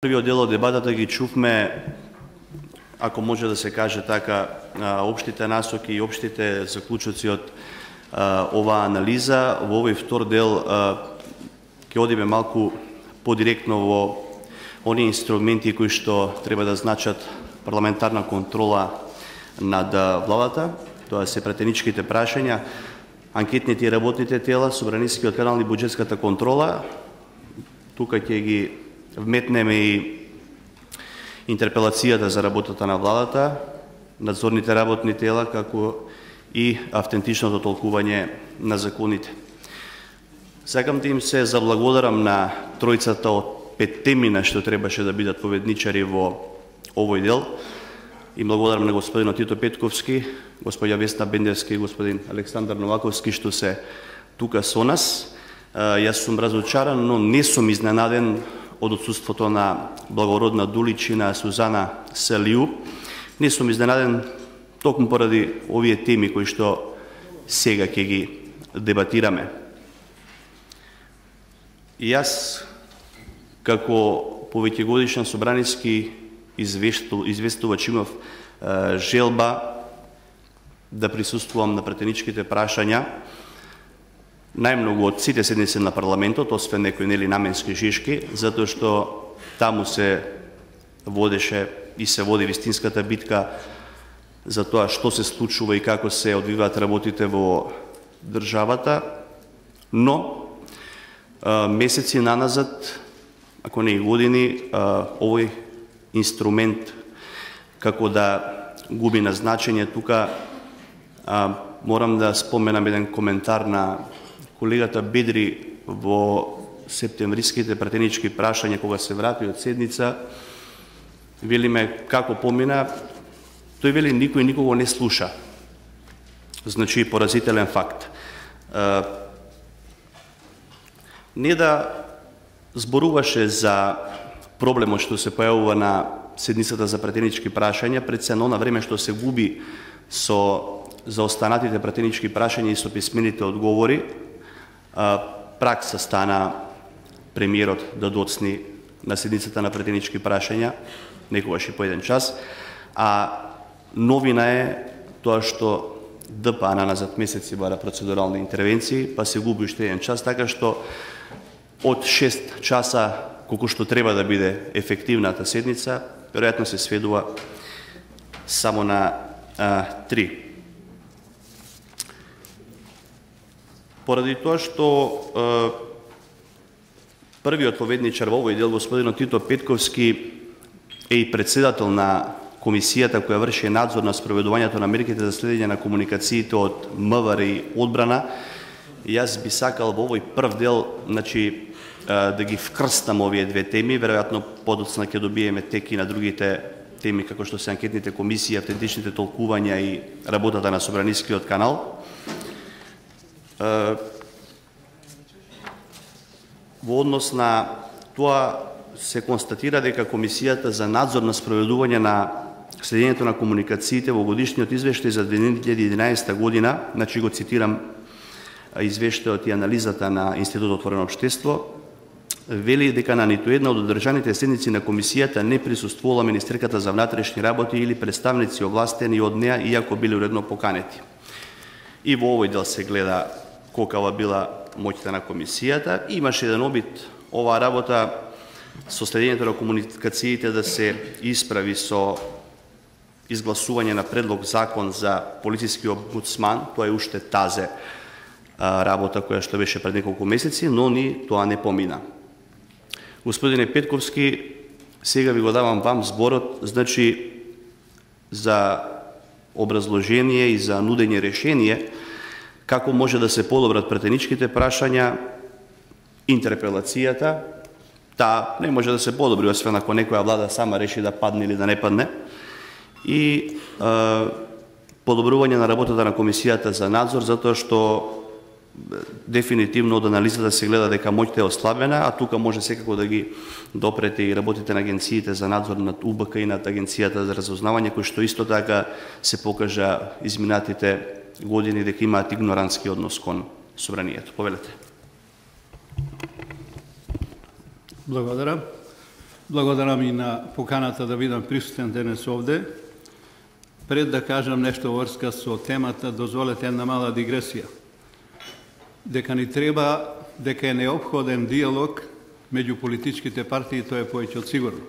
Првиот дел од дебатата ги чувме, ако може да се каже така, општите насоки и општите заклучоци од оваа анализа. Во овој втор дел ќе одиме малку подиректно во оние инструменти кои што треба да значат парламентарна контрола над владата. Тоа се претеничките прашања, анкетните и работните тела, собранискиот канал и буџетската контрола. Тука ќе ги вметнеме и интерпелацијата за работата на владата, надзорните работни тела, како и автентичното толкување на законите. Сакам да им се заблагодарам на тројцата од 5 темина што требаше да бидат поведничари во овој дел. И благодарам на господинот Тито Петковски, господја Весна Бендевски и господин Александар Новаковски што се тука со нас. Јас сум разочаран, но не сум изненаден од отсуството на благородна Дуличина Сузана Селиу. Не сум изненаден токму поради овие теми кои што сега ќе ги дебатираме. И јас, како повеќегодишен собраниски известувач, имав желба да присуствувам на претеничките прашања најмногу од сите седници на парламентот, освен некои нели наменски шишки, затоа што таму се водеше и се води вистинската битка за тоа што се случува и како се одвиваат работите во државата, но месеци наназад, ако не и години, овој инструмент како да губи на значење. Тука морам да споменам еден коментар на колегата Бедри во септемвриските претенички прашања, кога се врати од седница. Велиме како помина, тој вели никој никого не слуша. Значи поразителен факт. Не да зборуваше за проблемот што се појавува на седницата за претенички прашања, пред се на време што се губи со заостанатите претенички прашања и со писмените одговори, пракса стана премиерот да доцни на седницата на претенички прашања, некогаш и по еден час, а новина е тоа што ДПА назад месеци бара процедурални интервенции, па се губи уште еден час, така што од 6 часа колку што треба да биде ефективната седница, веројатно се сведува само на 3. Поради тоа што првиот поведничар во овој дел, господинот Тито Петковски, е и председател на комисијата која врши надзор на спроведувањето на мерките за следење на комуникациите од МВР и одбрана, јас би сакал во овој прв дел, значи, да ги вкрстам овие две теми. Веројатно подоцна ќе добиеме тек и на другите теми, како што се анкетните комисии, автентичните толкувања и работата на собранискиот канал. Во однос на тоа се констатира дека Комисијата за надзор на спроведување на следењето на комуникациите во годишниот извештај за 2011 година, значи го цитирам извештајот и анализата на Институтот Отворено општество, вели дека на ниту една од одржаните седници на комисијата не присуствувала министерката за внатрешни работи или представници овластени од неа, иако биле уредно поканети. И во овој дел се гледа колкава била моќта на комисијата. Имаше еден обид оваа работа со следењето на комуникациите да се исправи со изгласување на предлог закон за полициски омбудсман. Тоа е уште тазе работа која што беше пред неколку месеци, но ни тоа не помина. Господине Петковски, сега ви го давам вам зборот, значи, за образложение и за нудење решение, како може да се подобрат претеничките прашања, интерпелацијата. Таа не може да се подобри, освен ако некоја влада сама реши да падне или да не падне. И подобрување на работата на Комисијата за надзор, затоа што дефинитивно од анализата се гледа дека моќта е ослабена, а тука може секако да ги допрете и работите на агенциите за надзор над УБК и над Агенцијата за разузнавање, кои што исто така се покажа изминатите години дека имаат игнорантски однос кон собранието. Повелете. Благодарам. Благодарам и на поканата да бидам присутен денес овде. Пред да кажам нешто врска со темата, дозволете една мала дигресија. Дека е неопходен диалог меѓу политичките партии, тоа е повеќе од сигурно.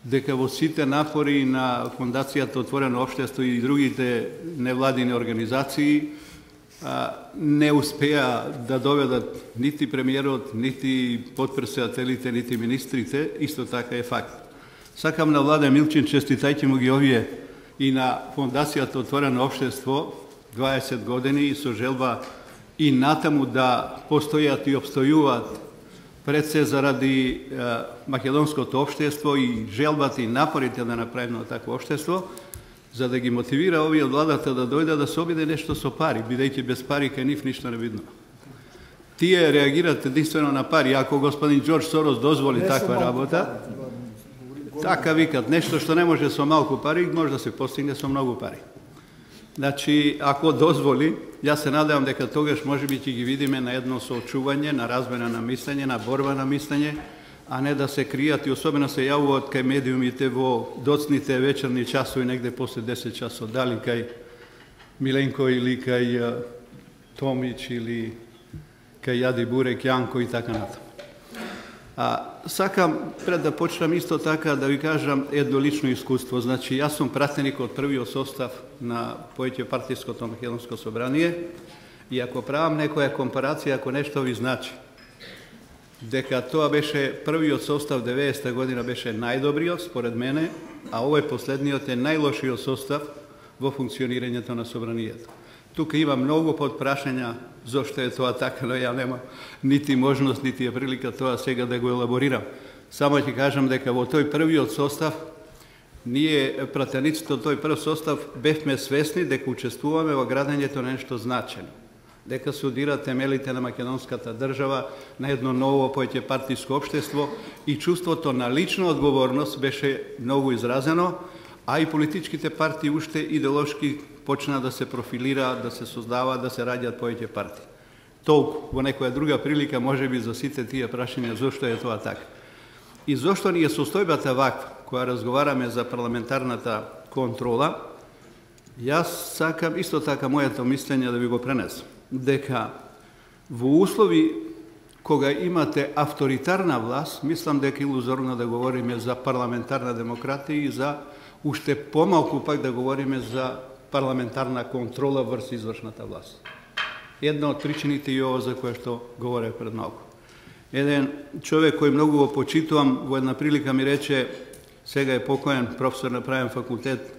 Дека во сите напори на Фондацијата Отворено општество и другите невладини организации не успеа да доведат нити премиерот, нити потпредседателите, нити министрите, исто така е факт. Сакам на Владе Милчин, честитајќи му ги овие и на Фондацијата Отворено општество 20 години и со желба и натаму да постојат и обстојуваат пред се заради македонското општество и желбата и напорите да направиме такво општество, за да ги мотивира овие владата да дојде да се обиде нешто со пари, бидејќи без пари кај нив ништо не видно. Тие реагираат единствено на пари. Ако господин Џорџ Сорос дозволи таква работа, така викат, нешто што не може со малку пари, може да се постигне со многу пари. Значи, ако дозволи, јас се надевам дека тогаш можеби ќе ги видиме на едно соочување, на размена на мислење, на борба на мислење, а не да се кријат и особено се јавуваат кај медиумите во доцните вечерни часови, негде после 10 часот, дали кај Миленко или кај Томич или кај Јади Бурек, Јанко и така натаму. Сакам пред да почнам исто така да ви кажам едно лично искуство. Значи, јас сум пратеник од првиот состав на повеќе партиското македонско собрание и ако правам некоја компарација, ако нешто ви значи, дека тоа беше првиот состав 90-та година беше најдобриот според мене, а овој последниот е најлошиот состав во функционирањето на собранието. Тука има многу подпрашања зошто е тоа така, но ја нема нити можност, нити е прилика тоа сега да го елаборирам. Само ќе кажам дека во тој првиот состав, ние пратениците од тој прв состав бевме свесни дека учествуваме во градењето на нешто значено. Дека се удира темелите на македонската држава, на едно ново повеќе партиско општество и чувството на лична одговорност беше многу изразено, а и политичките партии уште идеолошки почна да се профилираат, да се создаваат, да се раѓаат повеќе партии. Толку, во некоја друга прилика, можеби за сите тие прашања зошто е тоа така. И зошто ни е состојбата ваква, која разговараме за парламентарната контрола, јас сакам исто така моето мислење да ви го пренесам. Дека во услови кога имате авторитарна власт, мислам дека е илузорно да говориме за парламентарна демократија и за уште помалку пак да говориме за парламентарна контрола врз извршната власт. Една од причините и ова за која што говорев пред малку. Еден човек кој многу го почитувам, во една прилика ми рече, сега е покоен професор на правен факултет,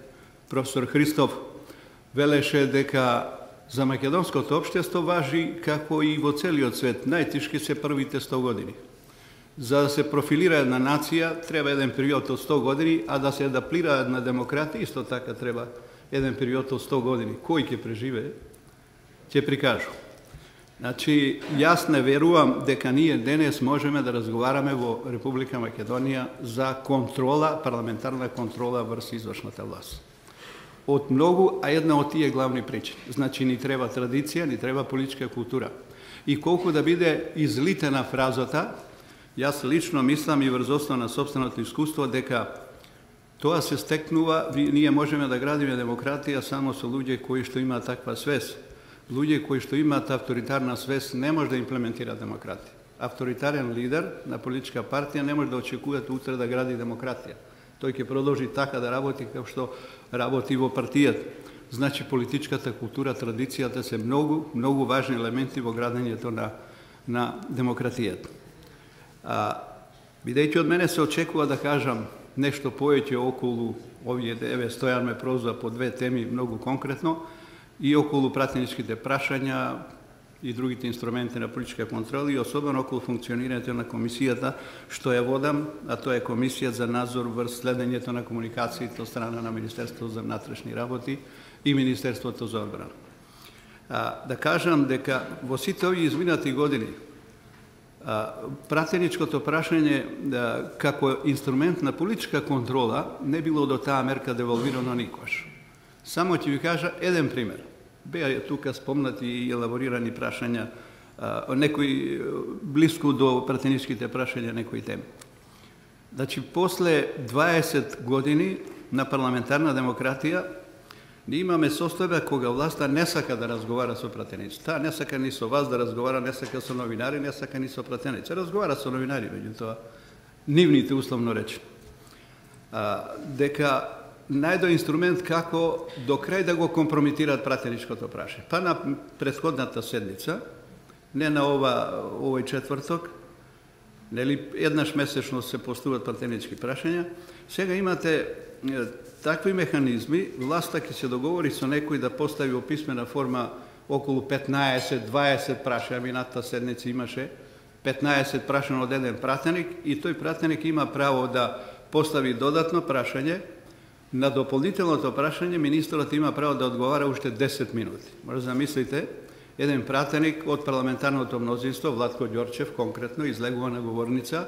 професор Христов, велеше дека за македонското општество важи како и во целиот свет. Најтешки се првите 100 години. За да се профилира една нација, треба еден период од 100 години, а да се адаптира една демократија, исто така треба еден период од 100 години. Кој ќе преживее, ќе прикажу. Значи, јас не верувам дека ние денес можеме да разговараме во Република Македонија за контрола, парламентарна контрола врз извршната власт. Од многу, а една од тие главни причини. Значи, ни треба традиција, ни треба политичка култура. И колку да биде излитена фразата, јас лично мислам и врз основа на сопственото искуство дека тоа се стекнува, ние можеме да градиме демократија само со луѓе кои што имаат таква свест. Луѓе кои што имаат авторитарна свест не може да имплементира демократија. Авторитарен лидер на политичка партија не може да очекувате утре да гради демократија. Тој ќе продолжи така да работи како што работи во партијата. Значи, политичката култура, традицијата се многу важни елементи во градењето на демократијата. Бидејќи од мене се очекува да кажам нешто повеќе околу овие Стојан ме прозва по две теми многу конкретно и околу пратеничките прашања и другите инструменти на политичка контрола и особено околу функционирањето на комисијата што ја водам, а тоа е комисија за надзор врз следењето на комуникациите од страна на Министерството за внатрешни работи и Министерството за одбрана. Да кажам дека во сите овие изминати години пратеничкото прашање како инструмент на политичка контрола не било до таа мерка девалвирано никогаш. Само ќе ви кажа еден пример. Беа тука спомнати и елаборирани прашања, некои блиску до пратеничките прашања некои теми. Значи, после 20 години на парламентарна демократија, ние имаме состојба кога власта не сака да разговара со пратеници. Таа не сака ни со вас да разговара, не сака со новинари, не сака ни со пратеници. Разговара со новинари, меѓутоа, нивните, условно речено. Дека најдо инструмент како до крај да го компрометираат пратеничкото прашање. Па на претходната седница, не на овој четврток, нели еднаш месечно се постуваат пратенички прашања, сега имате такви механизми, власта ќе се договори со некој да постави во писмена форма околу 15-20 прашања, минатата седница имаше 15 прашања од еден пратеник и тој пратеник има право да постави додатно прашање. На дополнителното прашање министерот има право да одговара уште 10 минути. Може да замислите, еден пратеник од парламентарното мнозинство, Владко Ѓорчев конкретно, излегува на говорница,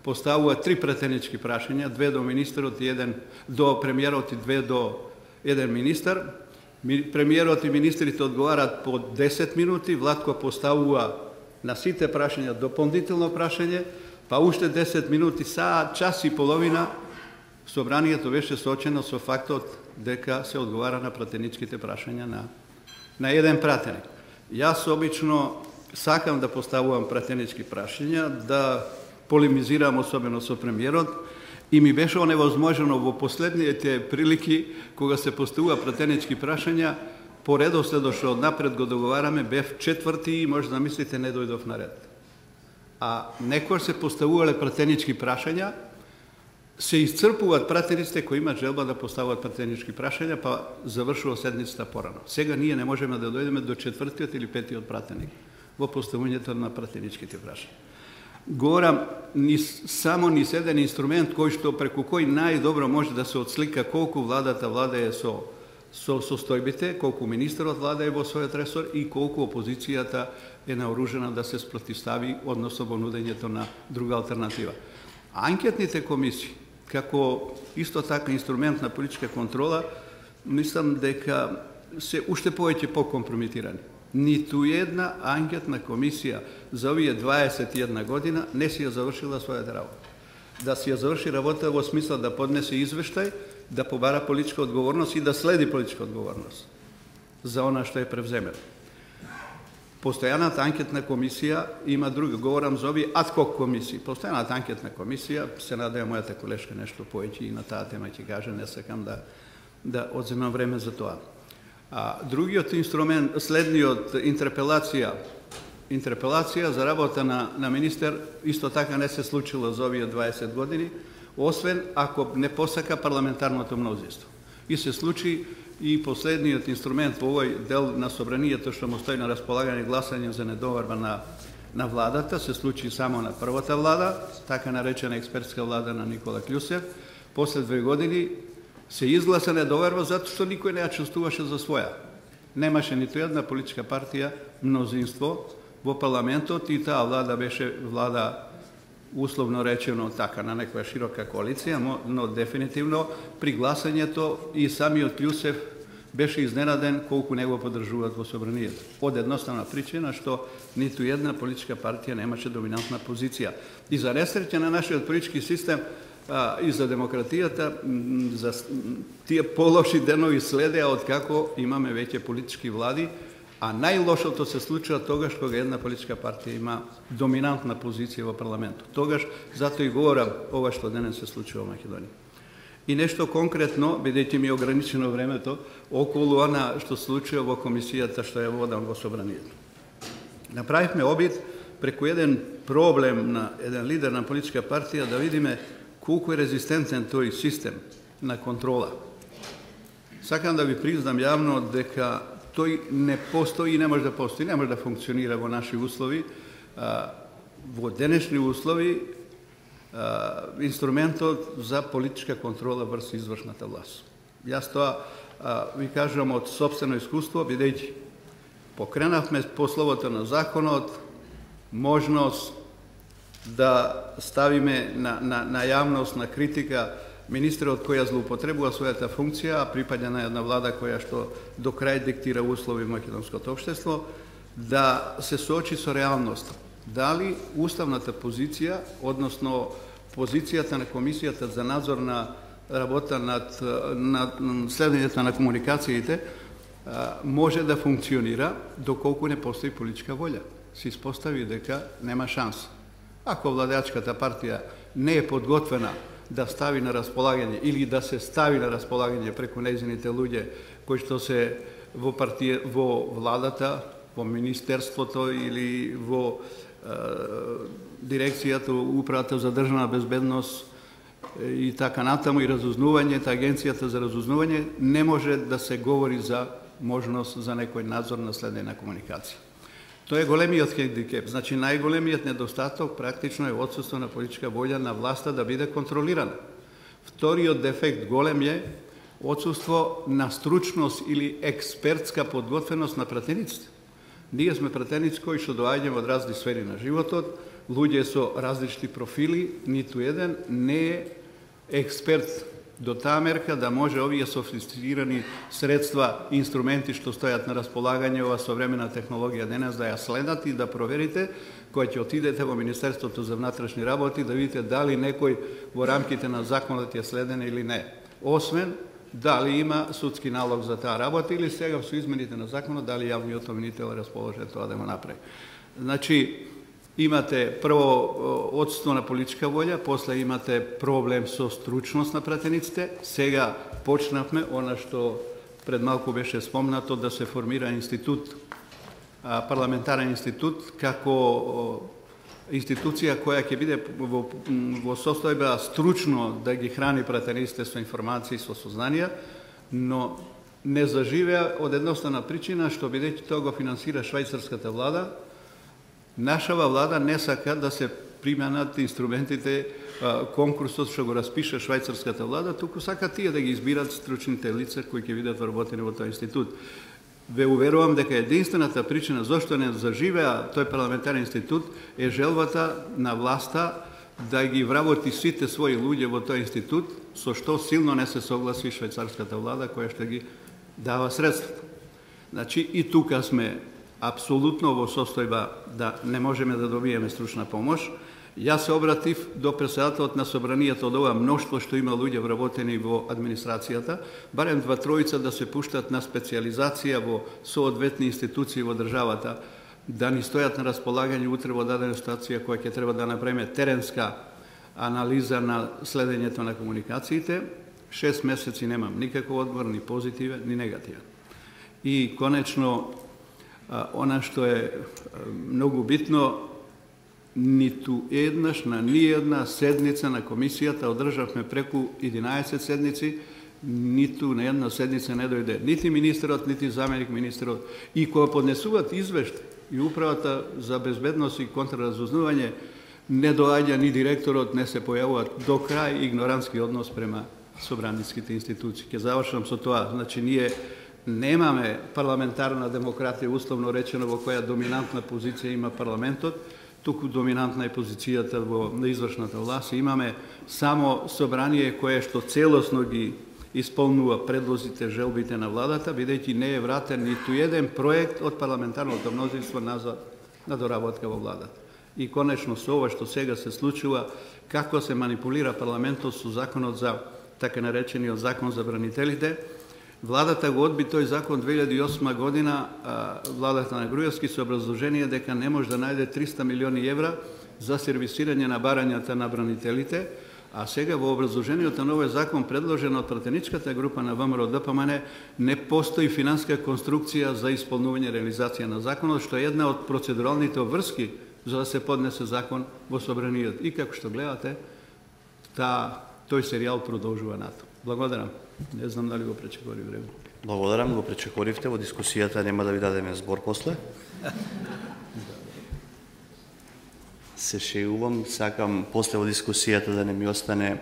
поставува 3 пратенички прашања, 2 до министерот и 1 до премиерот и 2 до еден министер. Премиерот и министрите одговарат по 10 минути, Владко поставува на сите прашања дополнително прашање, па уште 10 минути, час и половина, собранието беше соочено со фактот дека се одговара на пратеничките прашања на еден пратеник. Јас обично сакам да поставувам пратенички прашања, да полемизирам особено со премиерот и ми беше оневозможено во последните прилики кога се поставува пратенички прашања, по редоследот што однапред го договараме, бев четврти и може да мислите не дојдов на ред. А некој се поставувале пратенички прашања, се исцрпуваат пратениците кои имаат желба да поставуваат пратенички прашања, па завршува седницата порано. Сега ние не можеме да дојдеме до четвртиот или петиот пратеник во поставувањето на пратеничките прашања. Говорам само низ еден инструмент кој што преку кој најдобро може да се отслика колку владата владее со состојбите, колку министерот владее во својот ресор и колку опозицијата е наоружена да се спротивстави односно во нудењето на друга алтернатива. Анкетните комисии, како исто така инструмент на политичка контрола, мислам дека се уште повеќе покомпрометирани. Ниту една анкетна комисија за овие 21 година не си ја завршила својата работа. Да си ја заврши работа во смисла да поднесе извештај, да побара политичка одговорност и да следи политичка одговорност за она што е превземено. Постојаната анкетна комисија има друга, говорам за овие адхок комисии. Постојаната анкетна комисија, се надевам мојата колешка нешто повеќе и на таа тема ќе каже, не сакам да одземам време за тоа. Другиот инструмент, следниот интерпелација за работа на министер, исто така не се случило за овие 20 години, освен ако не посака парламентарното мнозинство. И се случи и последниот инструмент во овој дел на собранието што му стои на располагање гласање за недоверба на владата, се случи само на првата влада, така наречена експертска влада на Никола Кљусев. После 2 години се изгласа недоверба затоа што никој не ја чувствуваше за своја. Немаше ниту една политичка партија мнозинство во парламентот и таа влада беше влада условно речено така на некоја широка коалиција, но дефинитивно при гласањето и самиот Кљусев беше изненаден колку не го поддржуваат во собранието. Од едноставна причина што ниту една политичка партија немаше доминантна позиција. И за несреќа на нашиот политички систем и за демократијата, за тие полоши денови следеа од како имаме веќе политички влади, а најлошото се случува тогаш кога една политичка партија има доминантна позиција во парламентот. Тогаш, затоа и говорам ова што денес се случува во Македонија. И нешто конкретно, бидејќи ми е ограничено времето, околу она што случува во комисијата што ја водам во собранието. Направивме обид преку еден проблем на еден лидер на политичка партија да видиме колку е резистентен тој систем на контрола. Сакам да ви признам јавно дека тој не постои и не може да постои, не може да функционира во наши услови. Во денешни услови инструментот за политичка контрола врз извршната власт. Јас тоа ви кажам од сопствено искуство, бидејќи покренавме по словото на законот можност да ставиме на јавност, на критика министерот која злоупотребува својата функција, а припаѓа на една влада која што до крај диктира услови во македонското општество, да се соочи со реалноста. Дали уставната позиција, односно позицијата на комисијата за надзор на работа над следењето на комуникациите може да функционира доколку не постои политичка волја. Се испостави дека нема шанс. Ако владеачката партија не е подготвена да стави на располагање или да се стави на располагање преку нејзините луѓе кои што се во владата, во министерството или во дирекцијата, управата за државна безбедност и така натаму и разузнувањето, агенцијата за разузнување, не може да се говори за можност за некој надзор на следење на комуникација. Тоа е големиот хендикеп. Значи, најголемиот недостаток практично е отсуство на политичка волја на власта да биде контролирана. Вториот дефект голем е отсуство на стручност или експертска подготвеност на пратениците. Ние сме пратеници кои што доаѓаме од разни сфери на животот, луѓе со различни профили, ниту еден не е експерт до таа мерка да може овие софистицирани средства, инструменти што стојат на располагање, ова современа технологија денес да ја следат и да проверите, кој ќе отидете во Министерството за внатрешни работи да видите дали некој во рамките на законот е следен или не. Освен дали има судски налог за таа работа или сега со измените на законот дали јавниот обвинител е расположен тоа да го направи. Значи, имате прво отсутство на политичка волја, после имате проблем со стручност на пратениците. Сега почнавме она што пред малку беше спомнато да се формира институт, парламентарен институт, како институција која ќе биде во состојба стручно да ги храни пратениците со информации, со сознанија, но не заживеа од едноставна причина што бидејќи тоа го финансира швајцарската влада, нашава влада не сака да се применат инструментите, конкурсот што го распише швајцарската влада, туку сака тие да ги избират стручните лица кои ќе бидат вработени во тој институт. Ве уверувам дека единствената причина зошто не заживеа тој парламентарен институт е желбата на власта да ги вработи сите свои луѓе во тој институт, со што силно не се согласи швајцарската влада која што ги дава средствата. Значи и тука сме апсолутно во состојба да не можеме да добиеме стручна помош. Јас се обратив до председателот на собранието од ова мноштво што има луѓе вработени во администрацијата, барем 2-3 да се пуштат на специализација во соодветни институции во државата, да ни стојат на располагање утре во дадена ситуација која ќе треба да направиме теренска анализа на следењето на комуникациите. 6 месеци немам никаков одговор, ни позитивен, ни негативен. И конечно, она што е многу битно, ниту еднаш на ниедна седница на комисијата одржавме преку 11 седници, ниту на една седница не дојде нити министерот, нити заменик министерот. И кога поднесуваат извештај и управата за безбедност и контраразузнување, не доаѓа ни директорот, не се појавуваат, до крај игнорантски однос према собраницките институции. Ќе завршам со тоа. Значи, ние немаме парламентарна демократија, условно речено, во која доминантна позиција има парламентот, туку доминантна е позицијата на извршната власт. Имаме само собрание кое што целосно ги исполнува предлозите, желбите на владата, бидејќи не е вратен ниту еден проект од парламентарното мнозинство на доработка во владата. И конечно со ова што сега се случува, како се манипулира парламентот со законот за така наречениот закон за бранителите. Владата го одби тој закон 2008 година, владата на Груевски, со образложение дека не може да најде 300 милиони евра за сервисирање на барањата на бранителите, а сега во образложението на овој закон предложено од пратеничката група на ВМРО-ДПМН не постои финанска конструкција за исполнување реализација на законот, што е една од процедуралните обврски за да се поднесе закон во собранието. И како што гледате, тој серијал продолжува нато. Благодарам. Не знам дали го пречекори време. Благодарам, го пречекоривте. Во дискусијата нема да ви дадеме збор после. Се шеувам, сакам после во дискусијата да не ми остане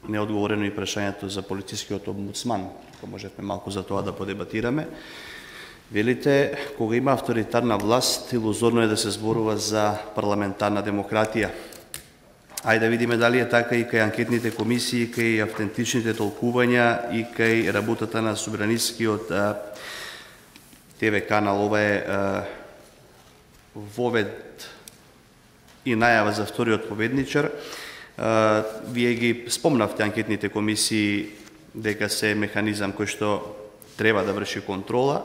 неодговорено и прашањето за полицискиот омбудсман, ако можевме малку за тоа да подебатираме. Велите, кога има авторитарна власт, илузорно е да се зборува за парламентарна демократија. Ајде да видиме дали е така и кај анкетните комисии, кај автентичните толкувања и кај работата на собранискиот ТВ канал. Ова е вовед и најава за вториот победничар. Вие ги спомнавте анкетните комисии дека се механизам кој што треба да врши контрола.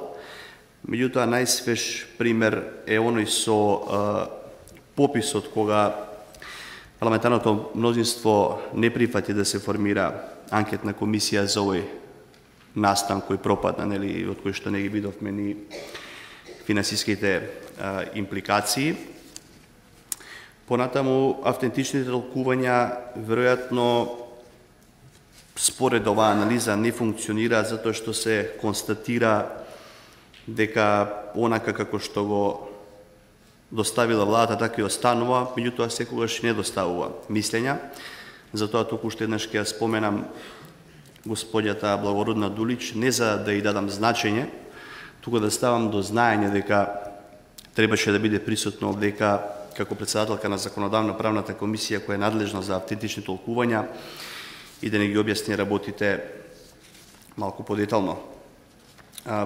Меѓутоа, најсвеж пример е оној со пописот кога парламентарното мнозинство не прифати да се формира анкетна комисија за овој настан кој пропадна, нели, од кој што не ги видовме ни финансиските импликации. Понатаму, автентичните толкувања, веројатно, според оваа анализа не функционира затоа што се констатира дека онака како што го доставила владата, така и останува, меѓутоа секогаш не доставува мислења. Затоа туку уште еднаш ќе ја споменам господјата Благородна Дулич, не за да ја дадам значење, туку да ставам до знаење дека требаше да биде присутно дека како председателка на Законодавно-правната комисија која е надлежна за автентични толкувања и да не ги објасни работите малку подетално.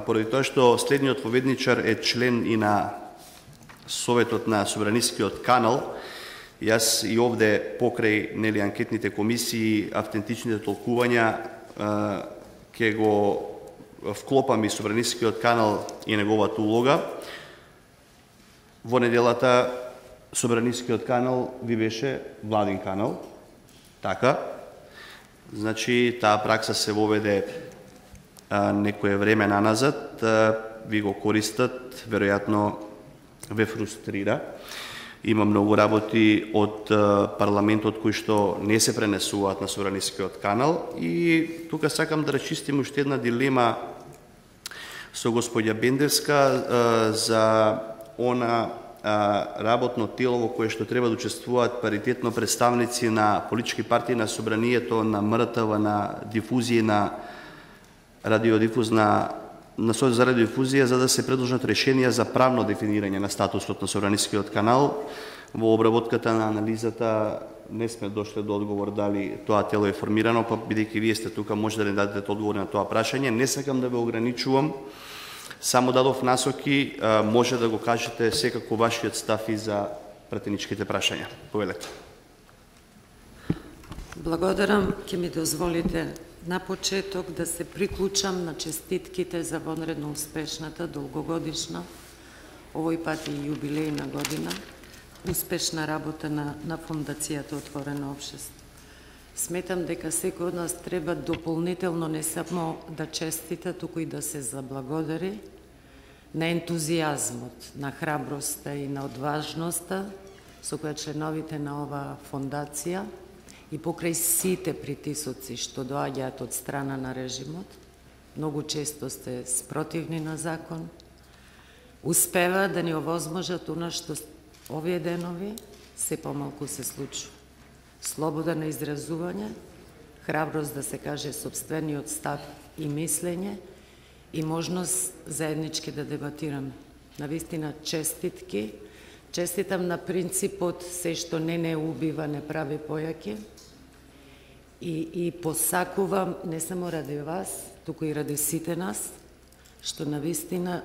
Поради тоа што следниот поведничар е член и на Советот на Собранискиот канал, јас и овде покрај нели анкетните комисии, автентичните толкувања ќе го вклопам и Собранискиот канал и неговата улога. Во неделата Собранискиот канал ви беше владин канал, така. Значи, таа пракса се воведе некое време наназад, ви го користат, веројатно ве фрустрира. Има многу работи од парламентот кои што не се пренесуваат на Собранискиот канал и тука сакам да рачистим уште една дилема со господја Бендевска за она работно тело во кое што треба да учествуваат паритетно представници на политички партии на Собранието, на МРТВ, на дифузија, на радиодифузна, на Сојуз за радиодифузија, за да се предложат решенија за правно дефинирање на статусот на Собранискиот канал. Во обработката на анализата не сме дошле до одговор дали тоа тело е формирано, па бидејќи вие сте тука може да не дадете одговор на тоа прашање. Не сакам да ве ограничувам, само дадов насоки, може да го кажете секако вашиот став и за пратеничките прашања. Повелете. Благодарам, ќе ми дозволите на почеток да се приклучам на честитките за вонредно успешната, долгогодишна, овој пат и јубилејна година, успешна работа на Фондацијата Отворено општество. Сметам дека секој од нас треба дополнително не само да честита, туку и да се заблагодари на ентузијазмот, на храброста и на одважноста со која членовите на оваа фондација и покрај сите притисоци што доаѓаат од страна на режимот, многу често сте спротивни на закон, успева да ни овозможат она што овие денови се помалку се случува. Слобода на изразување, храброст да се каже сопствениот став и мислење и можност заеднички да дебатираме. Навистина честитки, честитам на принципот се што не убива, не прави појаки и посакувам не само ради вас, туку и ради сите нас, што навистина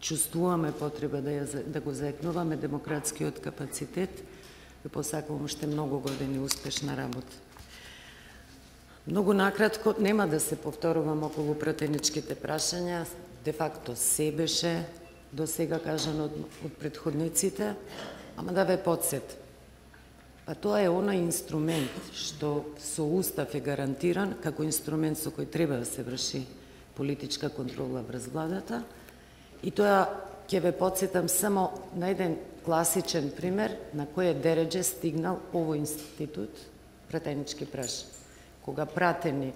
чувствуваме потреба да го заекнуваме демократскиот капацитет. Ви посакувам уште многу години успешна работа. Многу накратко, нема да се повторувам околу пратеничките прашања, де факто се беше до сега кажано од претходниците, ама да ве подсет. Па тоа е оној инструмент што со устав е гарантиран како инструмент со кој треба да се врши политичка контрола врз владата и тоа ќе ве подсетам само на еден класичен пример на кој дередже стигнал овој институт пратенички прашања. Кога пратеник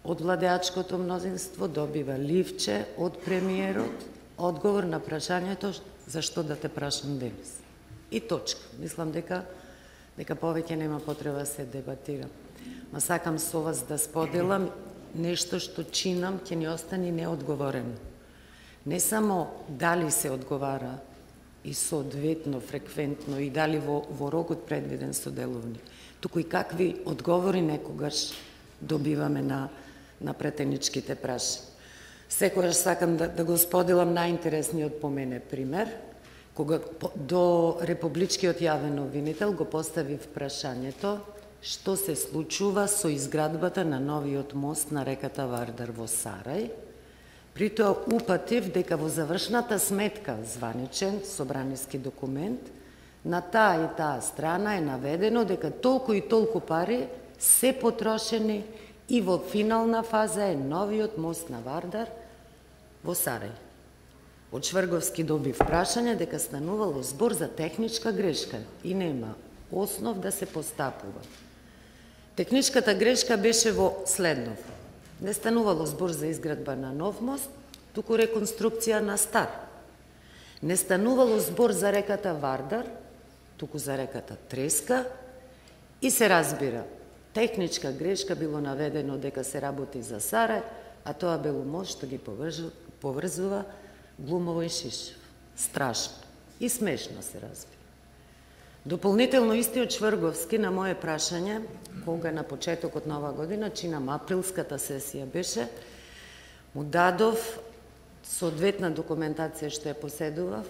од владеачкото мнозинство добива ливче од премиерот, одговор на прашањето зашто да те прашам денес. И точка. Мислам дека повеќе нема потреба да се дебатира. Ма сакам со вас да споделам нешто што чинам ќе ни остане неодговорено. Не само дали се одговара и соодветно, фреквентно и дали во рокот предвиден со деловник, туку и какви одговори некогаш добиваме на претеничките прашања. Секогаш сакам да го споделам најинтересниот по мене пример, кога до Републичкиот јавен обвинител го поставив прашањето што се случува со изградбата на новиот мост на реката Вардар во Сарај. При тоа упатив дека во завршната сметка, званичен собраниски документ, на таа и таа страна е наведено дека толку и толку пари се потрошени и во финална фаза е новиот мост на Вардар во Сарај. Од Шврговски добив прашање дека станувало збор за техничка грешка и нема основ да се постапува. Техничката грешка беше во следнов. Не станувало збор за изградба на нов мост, туку реконструкција на стар. Не станувало збор за реката Вардар, туку за реката Треска, и се разбира, техничка грешка било наведено дека се работи за Сарај, а тоа било мост што ги поврзува Глумово и Шишев. Страшно и смешно се разбира. Дополнително истиот Шврговски на моje прашање, кога на почетокот на оваа година, чинам априлската сесија беше, му дадов соодветна документација што ја поседував,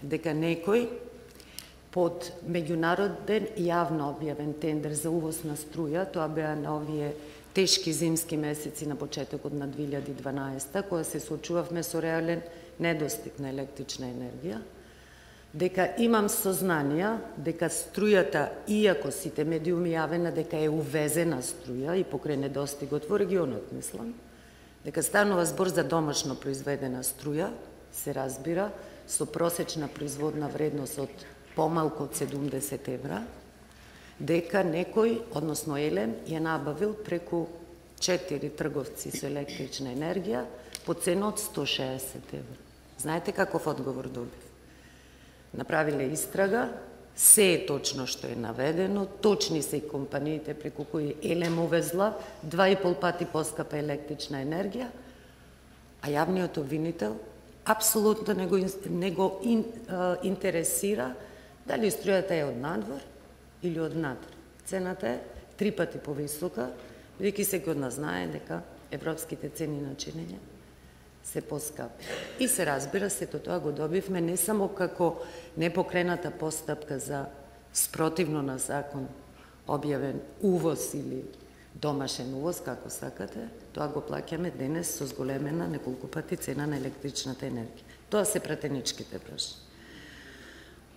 дека некој под меѓународен јавно објавен тендер за увоз на струја, тоа беа на овие тешки зимски месеци на почетокот на 2012, кога се соочувавме со реален недостиг на електрична енергија, дека имам сознанија дека струјата, иако сите медиуми јавена дека е увезена струја и покрај недостигот во регионот, мислам, дека станува збор за домашно произведена струја, се разбира, со просечна производна вредност од помалку од 70 евра, дека некој, односно Елем, ја набавил преку 4 трговци со електрична енергија по цена од 160 евра. Знаете каков одговор добив? Направиле истрага, се е точно што е наведено, точни се и компаниите преку кои Елем увезла 2,5 пати поскапа електрична енергија, а јавниот обвинител апсолутно не го интересира дали струјата е од надвор или од надвор. Цената е 3 пати повисока, бидејќи секој од нас знае дека европските цени на чинење се поскапи. И се разбира, сето тоа го добивме не само како непокрената постапка за спротивно на закон објавен увоз или домашен увоз, како сакате, тоа го плаќаме денес со зголемена неколку пати цена на електричната енергија. Тоа се пратеничките прашања.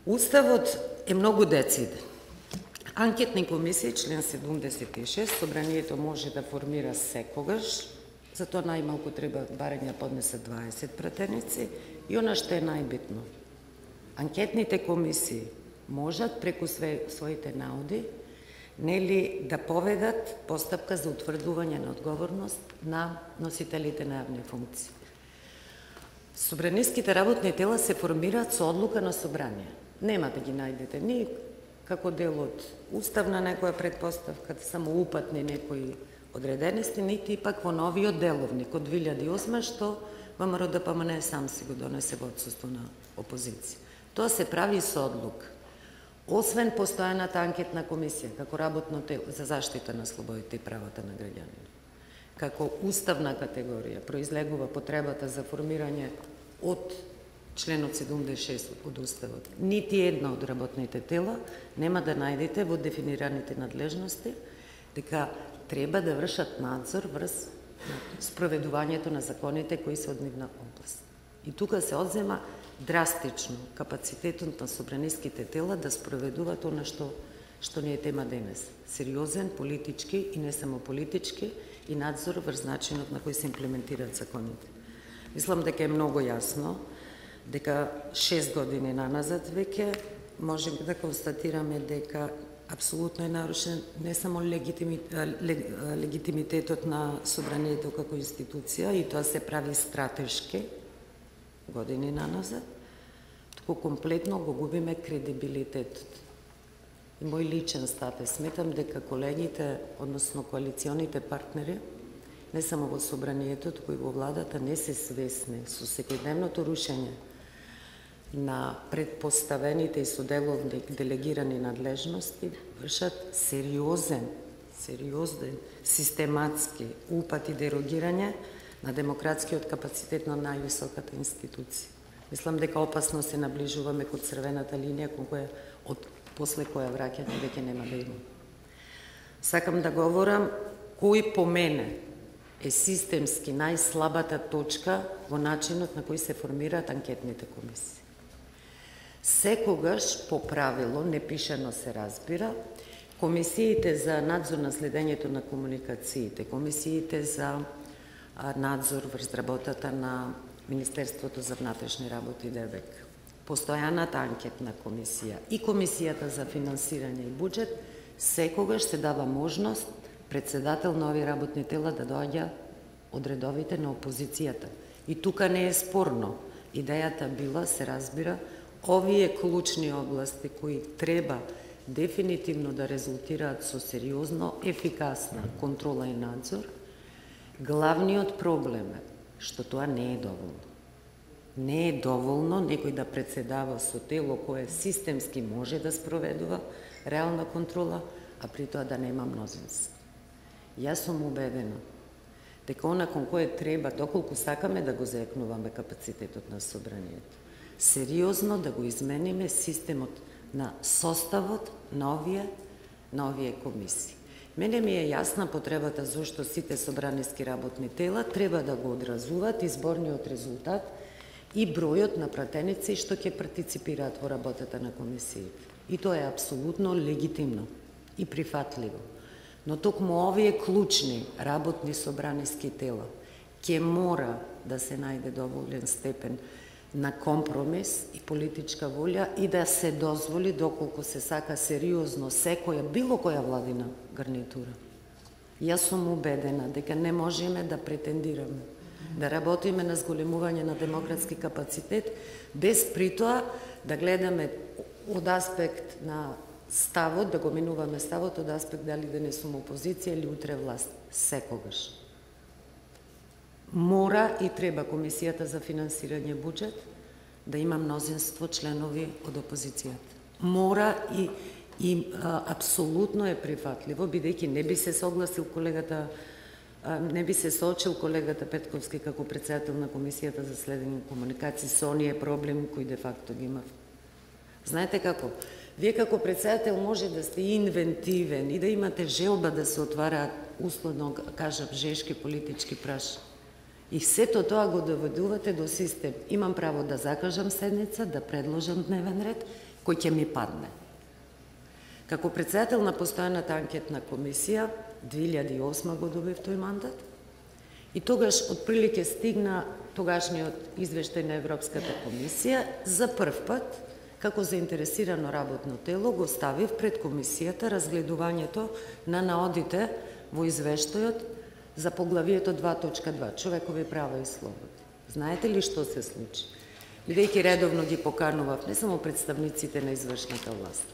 Уставот е многу дециден. Анкетни комисии, член 76, собранието може да формира секогаш, затоа најмалку треба барање поднесат 20 пратеници, и она што е најбитно. Анкетните комисии можат преку своите науди нели да поведат постапка за утврдување на одговорност на носителите на јавни функции. Собраниските работни тела се формираат со одлука на собрание. Нема да ги најдете ни како дел од уставна некоја предпоставка, само упатни некои одредености, нити и пак во новиот деловник од 2008, што ВМРО-ДПМН сам си го донесе во отсуство на опозиција. Тоа се прави со одлука. Освен постојаната анкетна комисија, како работно тело за заштита на слободите и правата на граѓаните, како уставна категорија, произлегува потребата за формирање од членот 76 од Уставот. Нити една од работните тела нема да најдете во дефинираните надлежности дека треба да вршат надзор врз спроведувањето на законите кои се од нивна област. И тука се одзема драстично капацитетот на собраниските тела да спроведуваат она што ни е тема денес. Сериозен, политички и не само политички, и надзор врз начинот на кој се имплементираат законите. Мислам дека е многу јасно дека 6 години наназад веќе можеме да констатираме дека апсолутно е нарушен не само легитимитетот на собранието како институција, и тоа се прави стратешки години наназад, туку комплетно го губиме кредибилитетот. И мој личен став е, сметам дека колегите, односно коалиционите партнери, не само во собранието, туку и во владата, не се свесни со секојдневното рушење на предпоставените и соделовни делегирани надлежности, вршат сериозен, систематски упат и дерогирање на демократскиот капацитет на највисоката институција. Мислам дека опасно се наближуваме кон црвената линија, кон која, после која враќање веќе нема да има. Сакам да говорам кој по мене е системски најслабата точка во начинот на кој се формираат анкетните комисии. Секогаш, по правило, непишано се разбира, комисиите за надзор на следењето на комуникациите, комисиите за надзор врз работата на Министерството за внатрешни работи ДВК, постојаната анкетна комисија и комисијата за финансирање и буџет, секогаш се дава можност председател на овие работни тела да доаѓа од редовите на опозицијата. И тука не е спорно. Идејата била, се разбира, овие клучни области кои треба дефинитивно да резултираат со сериозно, ефикасна контрола и надзор, главниот проблем е што тоа не е доволно. Не е доволно некој да председава со тело кое системски може да спроведува реална контрола, а при тоа да нема мнозинство. Јас сум убедена дека она кон кое треба, доколку сакаме да го заекнуваме капацитетот на собранието, сериозно да го измениме системот на составот на овие комисии. Мене ми е јасна потребата зашто сите собраниски работни тела треба да го одразуваат изборниот резултат и бројот на пратеници што ќе партиципираат во работата на комисиите. И тоа е апсолутно легитимно и прифатливо. Но токму овие клучни работни собраниски тела ќе мора да се најде доволен степен на компромис и политичка волја и да се дозволи, доколку се сака сериозно секоја, било која владина гарнитура. Јас сум убедена дека не можеме да претендираме да работиме на зголемување на демократски капацитет, без притоа да гледаме од аспект на ставот, да го минуваме ставот од аспект дали да не сум опозиција или утре власт. Секогаш. Мора и треба Комисијата за финансирање буџет да има мнозинство членови од опозицијата. Мора и апсолутно е прифатливо, бидејќи не би се согласил колегата, не би се соочил колегата Петковски како председател на Комисијата за следење на комуникации со оние проблеми кои де факто ги има. Знаете како? Вие како председател може да сте инвентивен и да имате желба да се отвараат, условно кажав, жешки политички прашања. И сето тоа го доведувате до систем. Имам право да закажам седница, да предложам дневен ред, кој ќе ми падне. Како председател на постојаната анкетна комисија, 2008 го добив тој мандат, и тогаш отприлике стигна тогашниот извештај на Европската комисија, за прв пат, како заинтересирано работно тело, го ставив пред комисијата разгледувањето на наодите во извештајот за поглавието 2.2, човекови права и слободи. Знаете ли што се случи? Бидејќи редовно ги поканував не само представниците на извршната власт,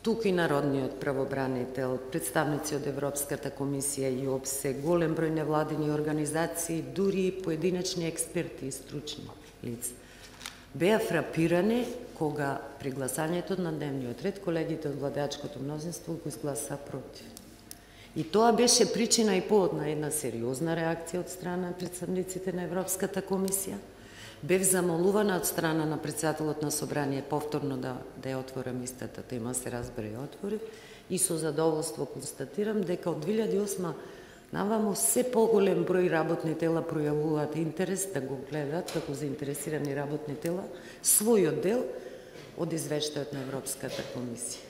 тук и народниот правобранител, представници од Европската комисија и ОПСЕ, голем број невладини организации, дури и поединечни експерти и стручни лица, беа фрапирани кога при гласањето на дневниот ред колегите од владеачкото мнозинство го изгласа против. И тоа беше причина и повод на една сериозна реакција од страна на представниците на Европската комисија. Бев замолувана од страна на председателот на собрание повторно да ја отворам истата тема, се разбере и отвори, и со задоволство констатирам дека од 2008 навамо се поголем број работни тела пројавуваат интерес да го гледат како заинтересирани работни тела својот дел од извештајот на Европската комисија.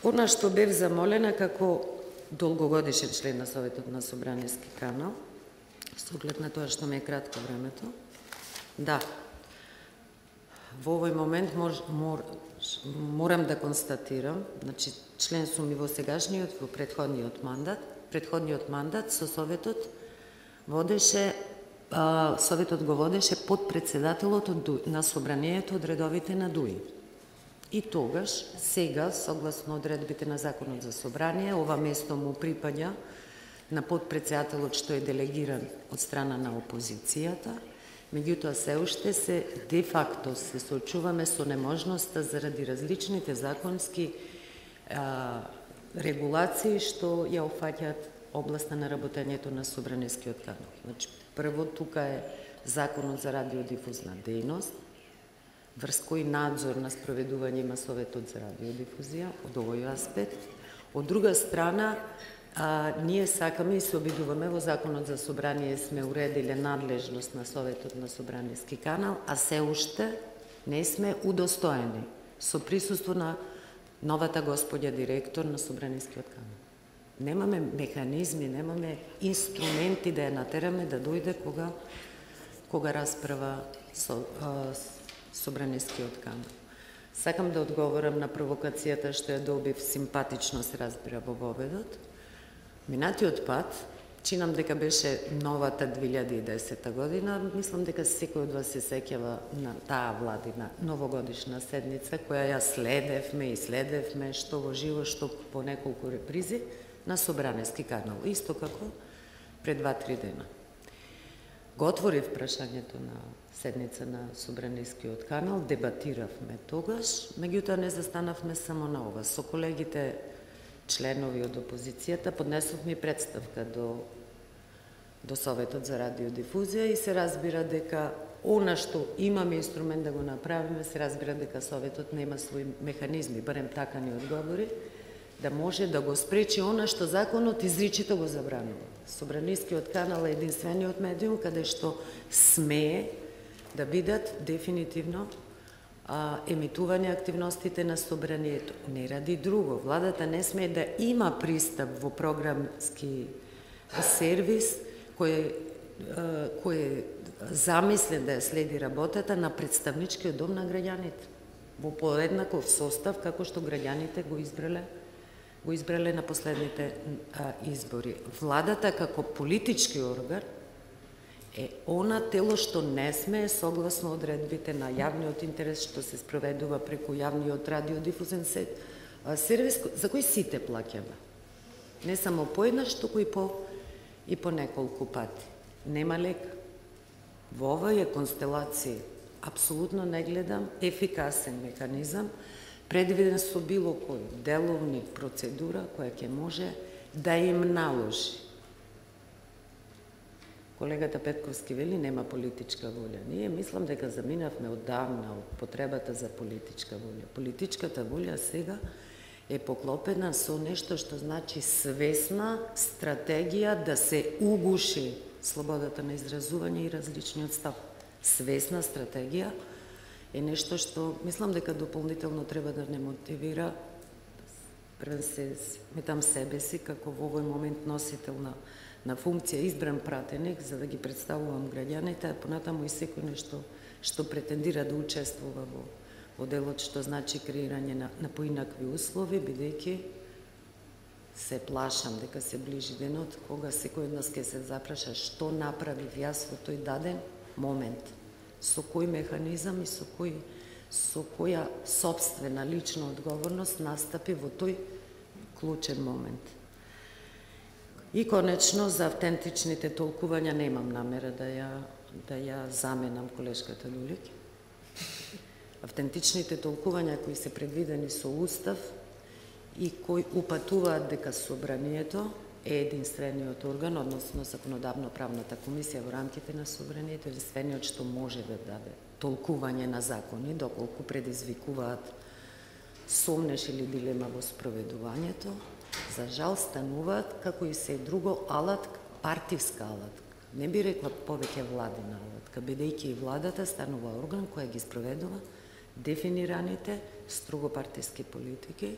Она што бев замолена како долгогодишен член на Советот на Собраниски канал, со оглед на тоа што ме е кратко времето, да, во овој момент морам да констатирам, значи член сум и во сегашниот, во претходниот мандат со Советот го водеше подпредседателот на Собранието од редовите на ДУИ. И тогаш, сега, согласно одредбите на Законот за собрание, ова место му припаѓа на подпредседателот што е делегиран од страна на опозицијата, меѓутоа се уште де факто се соочуваме со неможноста заради различните законски регулации што ја опфаќаат областа на работењето на собранискиот канал. Значи, прво тука е Законот за радиодифузна дејност, врз кој надзор на спроведување има Советот за радиодифузија од овој аспект. Од друга страна, ние сакаме и се обидуваме во Законот за собрание сме уредиле надлежност на Советот на собраниски канал, а се уште не сме удостоени со присуство на новата господја директор на собранискиот канал. Немаме механизми, немаме инструменти да ја натераме да дојде кога расправа собранискиот канал. Сакам да одговорам на провокацијата што ја добив, симпатично се разбира во воведот. Минатиот пат, чинам дека беше новата 2010 година, мислам дека секој од вас се сеќава на таа владина новогодишна седница, која ја следевме што во живо, што по неколку репризи на Собраниски канал, исто како пред 2-3 дена. Го отворив прашањето на седница на Собранискиот канал, дебатиравме тогаш, меѓутоа не застанавме само на ова. Со колегите членови од опозицијата поднесовме и представка до Советот за радиодифузија и се разбира дека она што имаме инструмент да го направиме, се разбира дека Советот нема своји механизми, барем така ни одговори, да може да го спречи она што законот изричито го забранува. Собранискиот канал е единствениот медиум каде што смее да бидат дефинитивно емитување активностите на собранието. Не ради друго. Владата не смее да има пристап во програмски сервис кој е замислен да ја следи работата на представничкиот дом на граѓаните во поеднаков состав како што граѓаните го избрале на последните избори. Владата како политички орган е она тело што не смее согласно одредбите на јавниот интерес што се спроведува преку јавниот радиодифузен сервис за кој сите плаќаме. Не само поеднаш, туку и по неколку пати. Нема лека. Во оваа констелација апсолутно не гледам ефикасен механизам предвиден со било кој деловник процедура која ќе може да им наложи. Колегата Петковски вели нема политичка волја. Ние мислам дека заминавме оддавна од потребата за политичка волја. Политичката волја сега е поклопена со нешто што значи свесна стратегија да се угуши слободата на изразување и различниот став. Свесна стратегија е нешто што мислам дека дополнително треба да не мотивира сметам себе си како во овој момент носител на функција избран пратеник за да ги представувам граѓаните, а понатаму и секој нешто што претендира да учествува во делот што значи креирање на поинакви услови, бидејќи се плашам дека се ближи денот кога секој од нас ќе се запраша што направив јас во тој даден момент, со кој механизам и со која собствена лична одговорност настапи во тој клучен момент. И конечно за автентичните толкувања немам намера да ја заменам колешката Дулик. Автентичните толкувања кои се предвидени со устав и кои упатуваат дека собранието е единствениот орган, односно законодавно-правната комисија во рамките на собранието, единствениот што може да даде толкување на закони, доколку предизвикуваат сомнеш или дилема во спроведувањето, за жал стануваат како и се друго алатка, партиска алатка. Не би рекла повеќе владина алатка, бидејќи и владата станува орган која ги спроведува дефинираните строго партиски политики.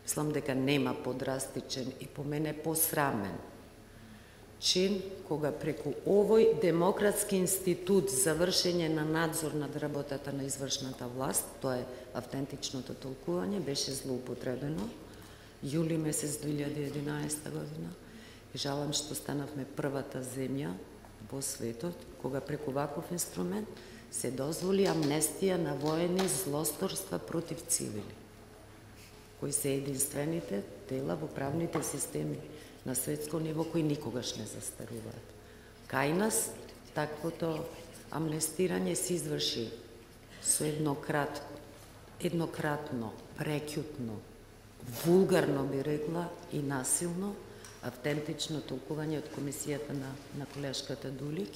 Мислам дека нема подрастичен и по мене посрамен чин кога преку овој демократски институт за вршење на надзор над работата на извршната власт, тоа е автентичното толкување, беше злоупотребено јули месец 2011 година. Жалам што станавме првата земја во светот кога преку ваков инструмент се дозволи амнестија на воени злосторства против цивили, кои се единствените дела во правните системи на светско ниво кои никогаш не застаруваат. Кај нас таквото амнестирање се изврши со еднократно, прекјутно, вулгарно би рекла и насилно автентично толкување од комисијата на колешката Дулик.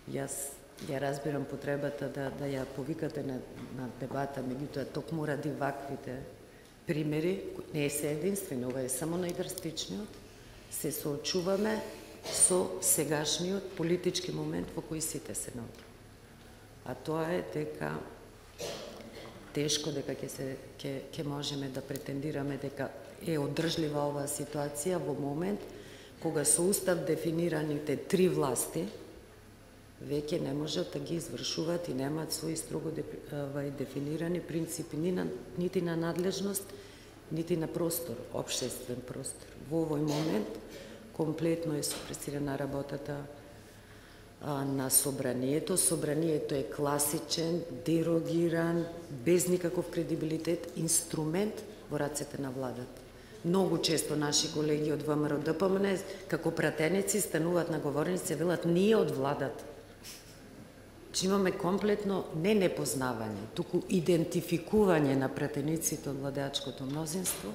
Јас ја разбирам потребата да ја повикате на дебата, меѓутоа токму ради ваквите примери, не се единствено, ова е само најдрастичниот, се соочуваме со сегашниот политички момент во кој сите се наоѓаме. А тоа е дека тешко дека ќе можеме да претендираме дека е одржлива оваа ситуација во момент кога со устав дефинираните три власти веќе не можат да ги извршуваат и немаат своји строго дефинирани принципи нити на надлежност, нити на простор, општествен простор. Во овој момент комплетно е супресирана работата на Собранието. Собранието е класичен, дерогиран, без никаков кредибилитет, инструмент во рацете на владата. Многу често наши колеги од ВМРО ДПМН како пратеници стануваат на говорници и велат ние од владата. Че имаме комплетно не непознавање, туку идентификување на пратениците од владеачкото мнозинство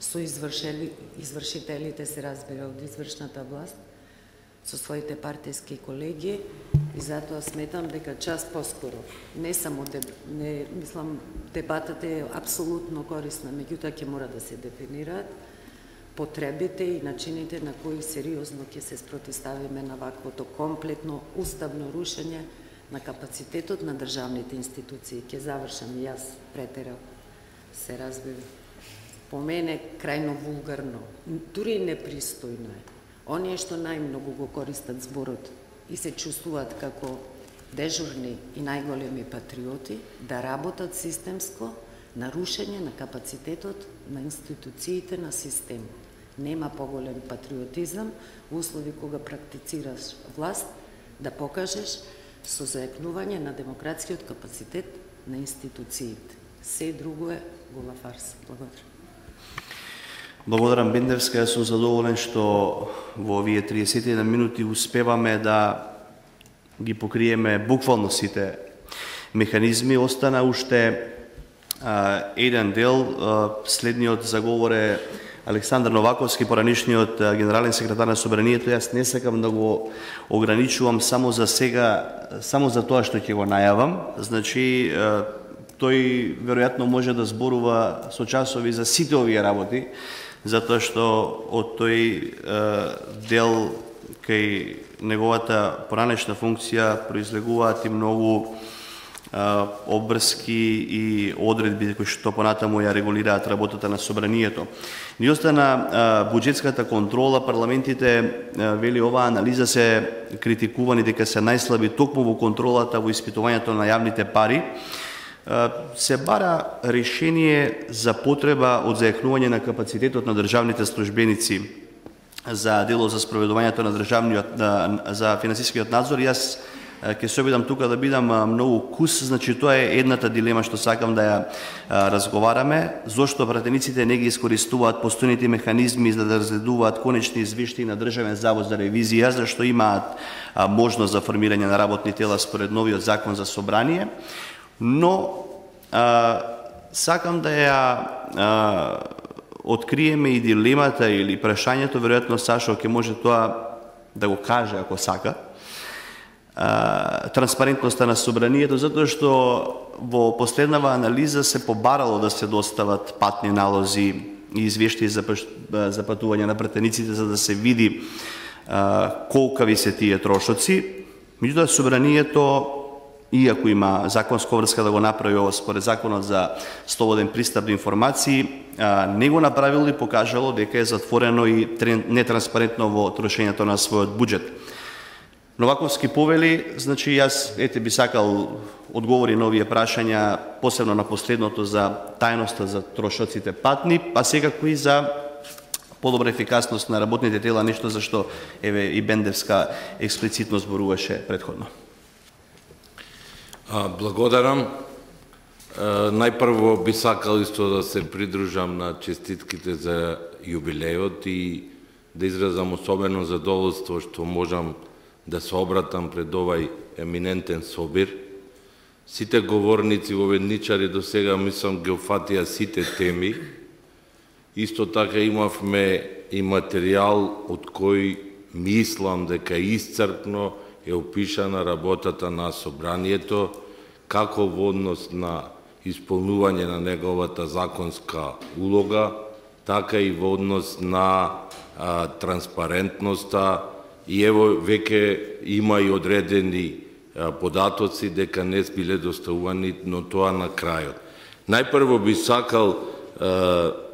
со извршителите, се разбира, од извршната власт, со своите партиски колеги, и затоа сметам дека час поскоро, не само, мислам, дебатата е апсолутно корисна, меѓутоа ќе мора да се дефинираат потребите и начините на кои сериозно ќе се спротивставиме на ваквото комплетно уставно рушење на капацитетот на државните институции. Ќе завршам и јас, претерав, се разбира. По мене крајно вулгарно, дури непристојно е. Оние што најмногу го користат зборот и се чувствуваат како дежурни и најголеми патриоти, да работат системско на рушење на капацитетот на институциите на систем. Нема поголем патриотизам во услови кога практицираш власт да покажеш со зајакнување на демократскиот капацитет на институциите. Се друго е гола фарса. Благодарам. Благодарам, Бендевска. Јас сум задоволен што во овие 31 минути успеваме да ги покриеме буквално сите механизми. Остана уште еден дел. Следниот заговор е Александар Новаковски, поранишниот генерален секретар на Собранието. Јас не сакам да го ограничувам само за сега, само за тоа што ќе го најавам. Значи, тој веројатно може да зборува со часови за сите овие работи, затоа што од тој дел кај неговата поранешна функција произлегуваат и многу обврски и одредби кои што понатаму ја регулираат работата на Собранието. Ни остана буџетската контрола. Парламентите, вели оваа анализа, се критикувани дека се најслаби токму во контролата во испитувањето на јавните пари. Се бара решение за потреба од зајакнување на капацитетот на државните службеници за дело за спроведувањето на за финансискиот надзор. Јас ќе се обидам тука да бидам многу кус, значи тоа е едната дилема што сакам да ја разговараме, зошто пратениците не ги искористуваат постојните механизми за да разгледуваат конечни извештаи на Државен завод за ревизија, зашто имаат можност за формирање на работни тела според новиот закон за собрание, но сакам да ја откриеме и дилемата или прашањето, веројатно Сашо ќе може тоа да го каже ако сака, транспарентноста на Собранието, затоа што во последнава анализа се побарало да се достават патни налози и извештаи за патување на пратениците за да се види колкави се тие трошоци. Меѓутоа Собранието, иако има законска врска да го направи ова според законот за слободен пристап до информации, не го направило и покажало дека е затворено и нетранспарентно во трошењето на својот буџет. Новаковски повели, значи јас би сакал одговори на овие прашања, посебно на последното за тајноста за трошоците патни, а секако и за подобра ефикасност на работните тела, нешто за што и Бендевска експлицитно зборуваше претходно. Благодарам. Најпрво би сакал исто да се придружам на честитките за јубилејот и да изразам особено задоволство што можам да се обратам пред овај еминентен собир. Сите говорници во ведничари до сега, мислам, ги опфатија сите теми. Исто така имавме и материјал од кој мислам дека iscrpно е опишана работата на Собранието, како во однос на исполнување на неговата законска улога, така и во однос на транспарентноста, и ево веќе има и одредени податоци дека не биле доставувани, но тоа на крајот. Најпрво би сакал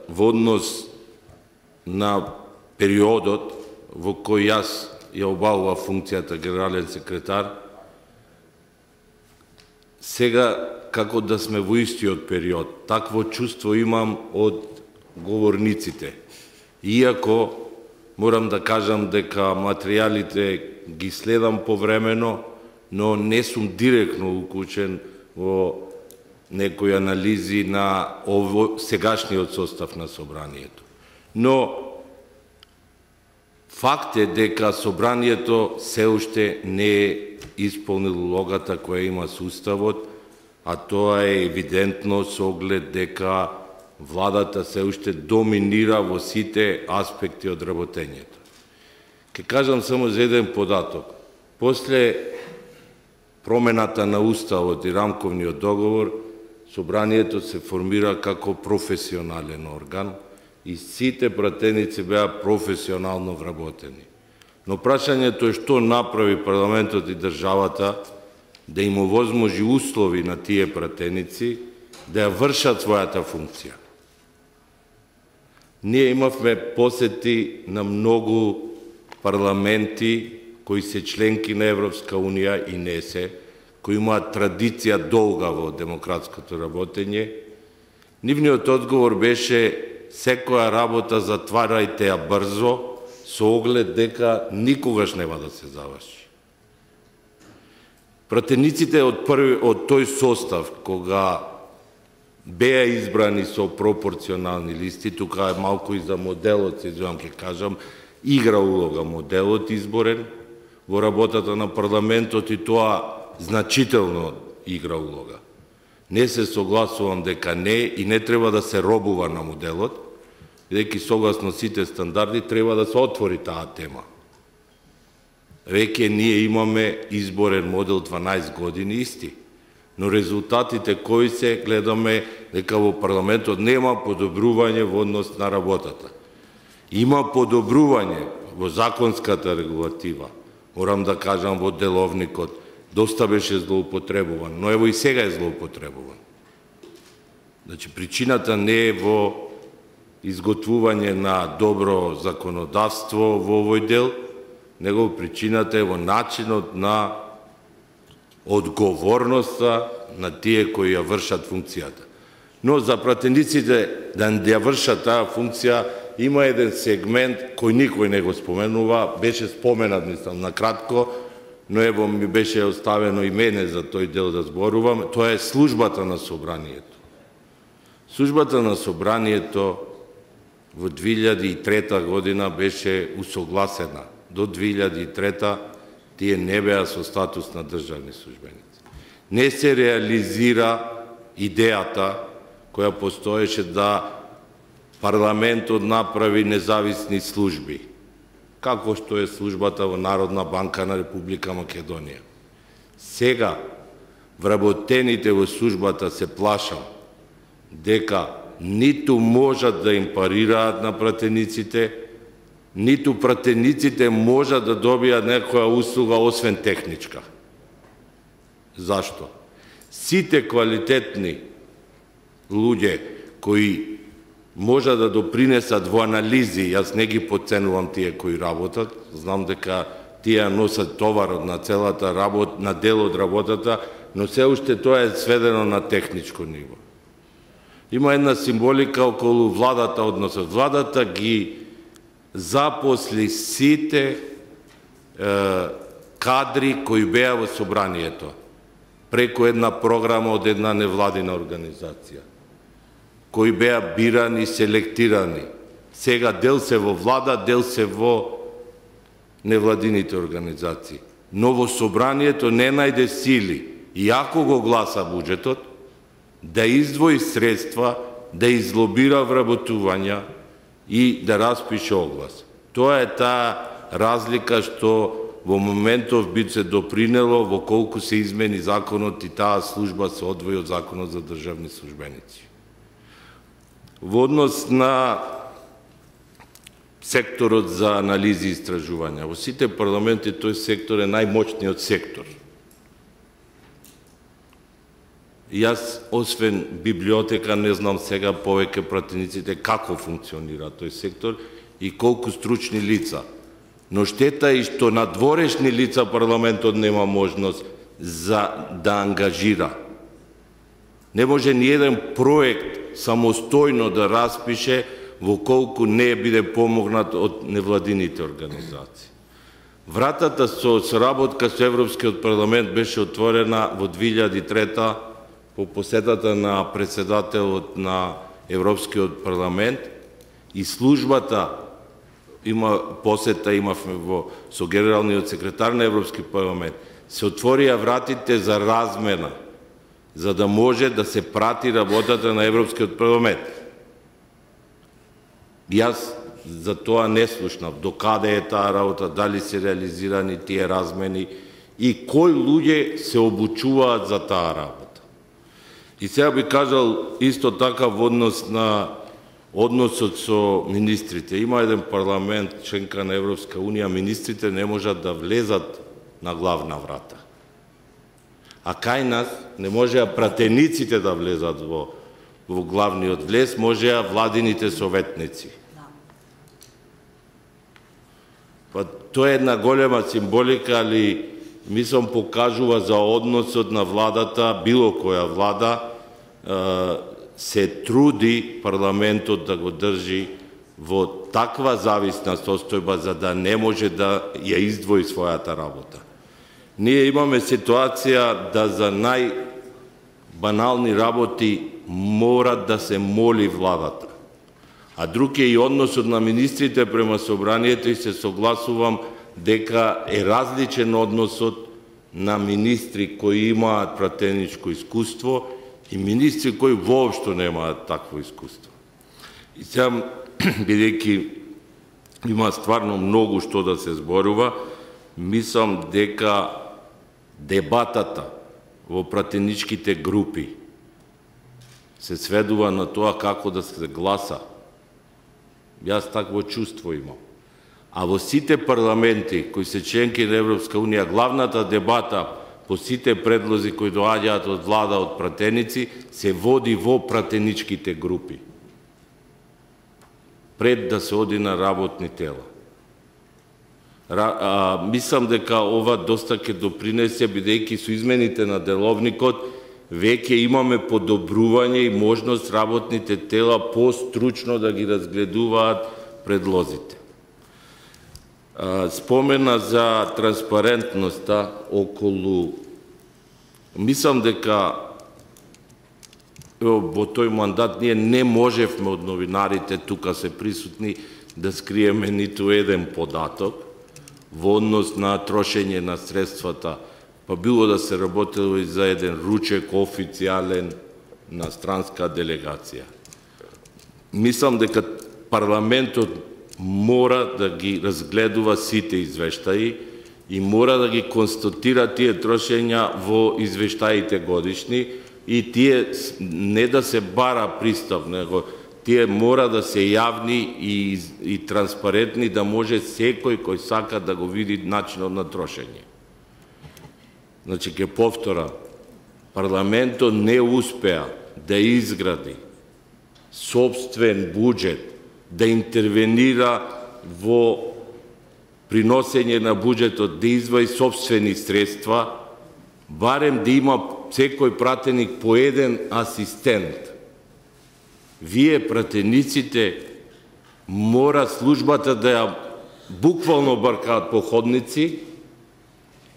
во однос на периодот во кој јас ја обавува функцијата генерален секретар, сега како да сме во истиот период. Такво чувство имам од говорниците. Иако морам да кажам дека материјалите ги следам повремено, но не сум директно уклучен во некои анализи на сегашниот состав на Собранието. Но факт е дека Собранието се уште не е исполнило улогата која има со Уставот, а тоа е евидентно со оглед дека владата се уште доминира во сите аспекти од работењето. Ке кажам само за еден податок. После промената на Уставот и рамковниот договор, Собранието се формира како професионален орган и сите пратеници беа професионално вработени. Но прашањето е што направи парламентот и државата да им овозможи услови на тие пратеници да ја вршат својата функција. Ние имавме посети на многу парламенти кои се членки на Европска Унија и не се, кои имаат традиција долга во демократското работење. Нивниот одговор беше: секоја работа затварајте ја брзо, со оглед дека никогаш нема да се заврши. Пратениците од тој состав, кога беа избрани со пропорционални листи, тука е малку и за моделот, се извинувам, ќе кажам, игра улога моделот изборен во работата на парламентот, и тоа значително игра улога. Не се согласувам дека не, и не треба да се робува на моделот, бидејќи согласно сите стандарди треба да се отвори таа тема. Веќе ние имаме изборен модел 12 години исти, но резултатите кои се гледаме дека во парламентот нема подобрување во однос на работата. Има подобрување во законската регулатива, морам да кажам во деловникот, доста беше злоупотребуван, но ево и сега е злоупотребуван. Значи, причината не е во изготвување на добро законодавство во овој дел, него причината е во начинот на одговорноста на тие кои ја вршат функцијата. Но за пратениците да ја вршат таа функција има еден сегмент кој никој не го споменува, беше споменат, мислам, на кратко, но ево ми беше оставено и мене за тој дел да зборувам, тоа е службата на Собранието. Службата на Собранието во 2003 година беше усогласена. До 2003 тие не беа со статус на државни службеници. Не се реализира идејата која постоеше да парламентот направи независни служби, како што е службата во Народна банка на Република Македонија. Сега, вработените во службата се плашам дека ниту можат да им парираат на пратениците, ниту пратениците можат да добијат некоја услуга освен техничка. Зашто? Сите квалитетни луѓе кои можат да допринесат во анализи, јас не ги подценувам тие кои работат, знам дека тие носат товарот на целата работа, на дел од работата, но се уште тоа е сведено на техничко ниво. Има една символика околу владата, односот владата ги запосли сите кадри кои беа во Собранието преку една програма од една невладина организација, кои беа бирани, селектирани. Сега дел се во влада, дел се во невладините организации. Но во Собранието не најде сили, иако го гласа буџетот, да издвои средства, да излобира вработувања и да распише оглас. Тоа е таа разлика што во моментов би се допринело во колку се измени законот и таа служба се одвои од законот за државни службеници. Во однос на секторот за анализи и истражувања, во сите парламенти тој сектор е најмоćниот сектор. Јас, освен библиотека, не знам сега повеќе пратениците како функционира тој сектор и колку стручни лица. Но штета е што надворешни лица парламентот нема можност да ангажира. Не може ни еден проект самостојно да распише во колку не биде помогнат од невладините организации. Вратата со соработка со Европскиот парламент беше отворена во 2003 по посетата на председателот на Европскиот парламент и службата има посета имавме со генералниот секретар на Европски парламент. Се отворија вратите за размена, за да може да се прати работата на Европскиот парламент. Јас за тоа не слушнав до каде е таа работа, дали се реализирани тие размени и кои луѓе се обучуваат за таа работа. И сега би кажал исто така во однос на односот со министрите. Има еден парламент, членка на Европска Унија, министрите не можат да влезат на главна врата. А кај нас не можеа пратениците да влезат во главниот влез, можеа владините советници. Па тоа е една голема символика, али мислам покажува за односот на владата, било која влада, се труди парламентот да го држи во таква зависна состојба за да не може да ја издвои својата работа. Ние имаме ситуација да за најбанални работи мора да се моли владата. А друг е и односот на министрите према собранието и се согласувам дека е различен односот на министри кои имаат пратеничко искуство и министри кои воопшто немаат такво искуство. И сега, бидејќи има стварно многу што да се зборува, мислам дека дебатата во пратеничките групи се сведува на тоа како да се гласа. Јас такво чувство имам. А во сите парламенти кои се членки на Европска Унија, главната дебата по сите предлози кои доаѓаат од влада, од пратеници, се води во пратеничките групи. Пред да се оди на работни тела. Мислам дека ова доста ќе допринесе, бидејќи со измените на деловникот веќе имаме подобрување и можност работните тела постручно да ги разгледуваат предлозите. Спомена за транспарентноста околу... Мислам дека во тој мандат ние не можевме од новинарите, тука се присутни, да скриеме ниту еден податок во однос на трошење на средствата, па било да се работело и за еден ручек официјален на странска делегација. Мислам дека парламентот мора да ги разгледува сите извештаи и мора да ги констатира тие трошења во извештаите годишни и тие не да се бара пристав, него тие мора да се јавни и транспарентни, да може секој кој сака да го види начинот на трошење. Значи, ќе повтора, парламентот не успеа да изгради собствен буџет, да интервенира во приносење на буџетот, да издвои собствени средства, барем да има секој пратеник по еден асистент. Вие, пратениците, мора службата да ја буквално баркаат по ходници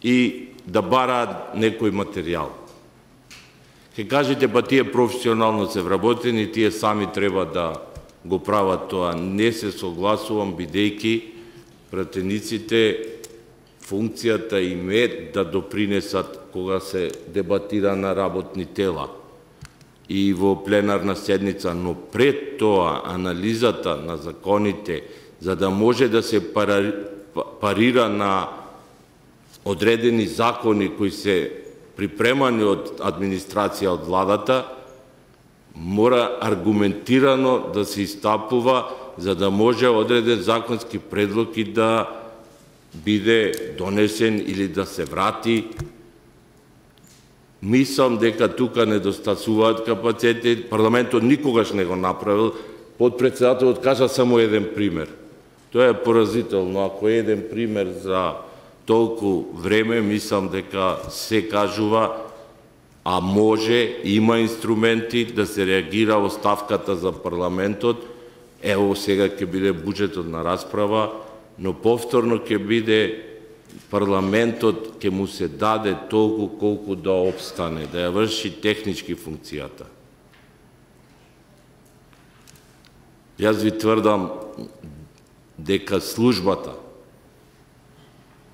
и да бараат некој материјал. Ке кажете, па тие професионално се вработени, тие сами треба да го прават тоа. Не се согласувам, бидејќи пратениците функцијата им е да допринесат кога се дебатира на работни тела и во пленарна седница, но пред тоа анализата на законите, за да може да се парира на одредени закони кои се припремани од администрација од владата, мора аргументирано да се истапува за да може одреден законски предлог и да биде донесен или да се врати. Мислам дека тука недостасуваат капацитети. Парламентот никогаш не го направил. Подпредседателот кажа само еден пример. Тоа е поразително. Ако е еден пример за толку време, мислам дека се кажува, а може, има инструменти да се реагира оставката за парламентот. Ево сега ќе биде буџетот на расправа, но повторно ќе биде парламентот, ќе му се даде толку колку да обстане, да ја врши технички функцијата. Јас ви тврдам дека службата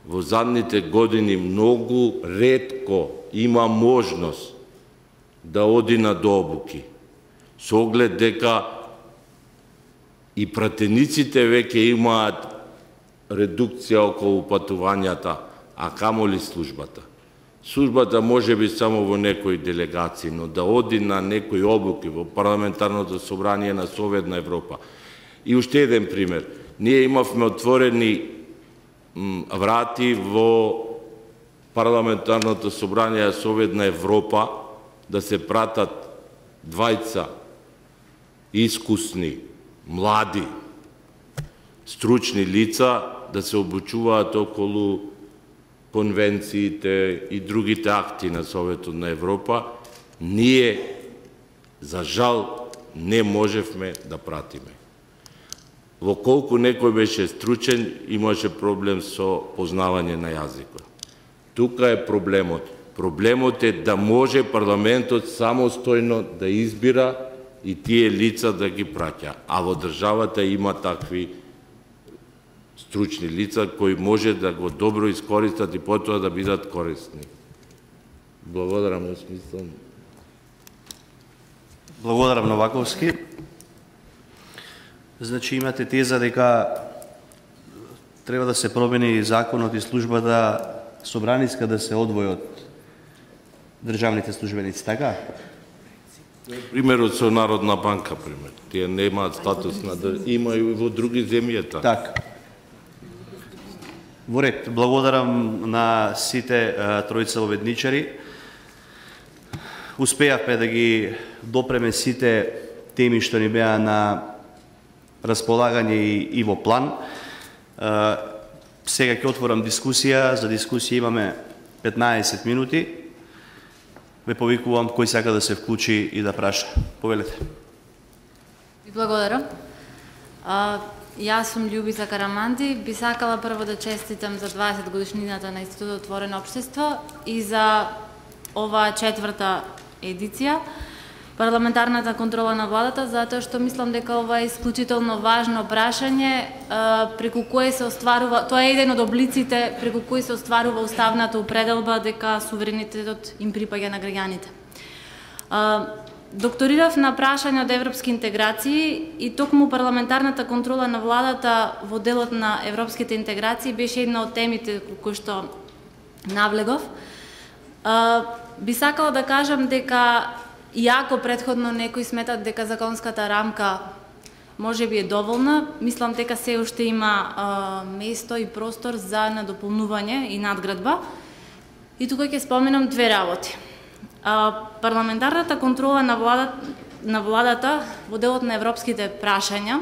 во задните години многу ретко има можност да оди на дообуки, со оглед дека и пратениците веќе имаат редукција околу патувањата, а камоли службата. Службата може би само во некои делегации, но да оди на некои обуки во Парламентарното собрание на Советна Европа. И уште еден пример. Ние имавме отворени врати во Парламентарното собрание на Советна Европа да се пратат двајца искусни, млади, стручни лица да се обучуваат околу конвенциите и другите акти на Советот на Европа. Ние, за жал, не можевме да пратиме. Во колку некој беше стручен, имаше проблем со познавање на јазикот. Тука е проблемот. Проблемот е да може парламентот самостојно да избира и тие лица да ги праќа. А во државата има такви стручни лица кои може да го добро искористат и потоа да бидат корисни. Благодарам, смислам. Благодарам, Новаковски. Значи имате теза дека треба да се промени законот и службата собраниска да се одвои од државните службеници, така? Примерот со Народна банка, пример. Тие немаат статус на има и во други земји така. Така. Во ред, благодарам на сите тројца обедничари. Успеавме да ги допреме сите теми што ни беа на располагање и во план. Сега ќе отворам дискусија. За дискусија имаме 15 минути. Ве повикувам кој сака да се вклучи и да праша. Повелете. Ви благодарам. Јас сум Љубица Караманди. Би сакала прво да честитам за 20 годишнината на Институтот Отворено општество и за оваа четврта едиција парламентарната контрола на владата, затоа што мислам дека ова е исклучително важно прашање преку кое се остварува, тоа е еден од облиците преку кои се остварува уставната упределба дека суверенитетот им припаѓа на граѓаните. Докторирав на прашање од европски интеграции и токму парламентарната контрола на владата во делот на европските интеграции беше една од темите кои што навлегов. Би сакала да кажам дека иако претходно некои сметат дека законската рамка може би е доволна, мислам дека се уште има место и простор за надополнување и надградба. И тука ќе споменам две работи. Парламентарната контрола на владата во делот на европските прашања,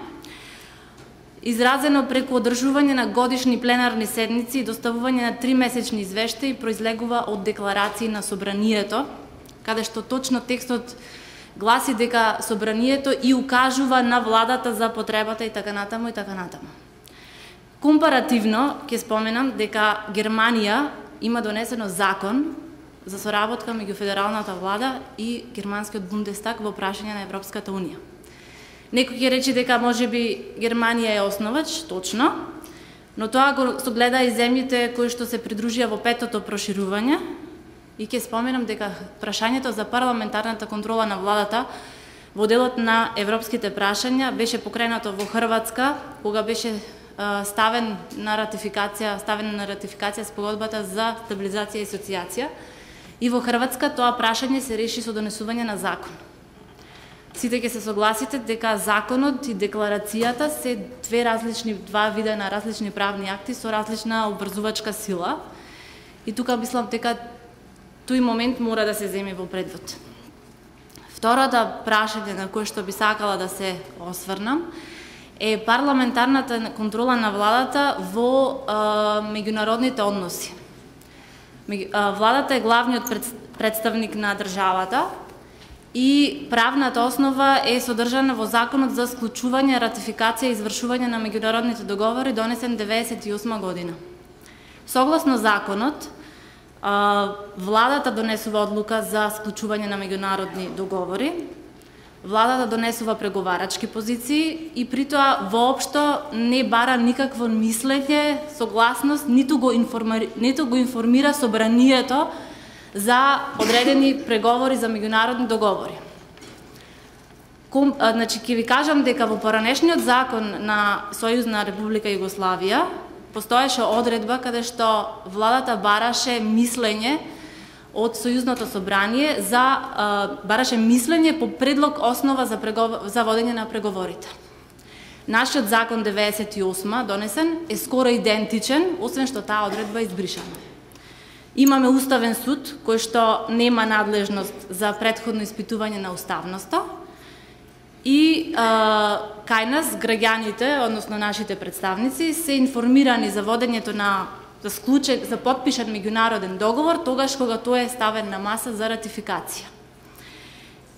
изразено преку одржување на годишни пленарни седници и доставување на 3-месечни извештаи, произлегува од декларации на собранието, каде што точно текстот гласи дека собранието и укажува на владата за потребата и така натаму и така натаму. Компаративно ќе споменам дека Германија има донесено закон за соработка меѓу федералната влада и германскиот Бундестаг во прашање на Европската унија. Некој ќе рече дека можеби Германија е основач, точно, но тоа го согледа и земјите кои што се придружија во петото проширување. И ќе споменам дека прашањето за парламентарната контрола на владата во делот на европските прашања беше покренато во Хрватска, кога беше ставен на ратификација спогодбата за стабилизација и асоциација. И во Хрватска тоа прашање се реши со донесување на закон. Сите ќе се согласите дека законот и декларацијата се два вида на различни правни акти со различна обврзувачка сила. И тука мислам дека тој момент мора да се земе во предвид. Второто прашање на кое што би сакала да се осврнам е парламентарната контрола на владата во меѓународните односи. Владата е главниот представник на државата и правната основа е содржана во Законот за склучување, ратификација и извршување на меѓународните договори донесен 1998 година. Согласно законот, владата донесува одлука за склучување на меѓународни договори, владата донесува преговарачки позиции и при тоа воопшто не бара никакво мислење, согласност, ниту го информира собранието за одредени преговори за меѓународни договори. Значи, ќе ви кажам дека во поранешниот закон на Сојузна Република Југославија постоеше одредба каде што владата бараше мислење од Сојузното собрание бараше мислење по предлог основа за водење на преговорите. Нашиот закон 98 донесен е скоро идентичен, освен што таа одредба е избришана. Имаме Уставен суд кој што нема надлежност за претходно испитување на уставноста и кај нас граѓаните, односно нашите представници, се информирани за водењето за потпишан меѓународен договор тогаш кога тој е ставен на маса за ратификација.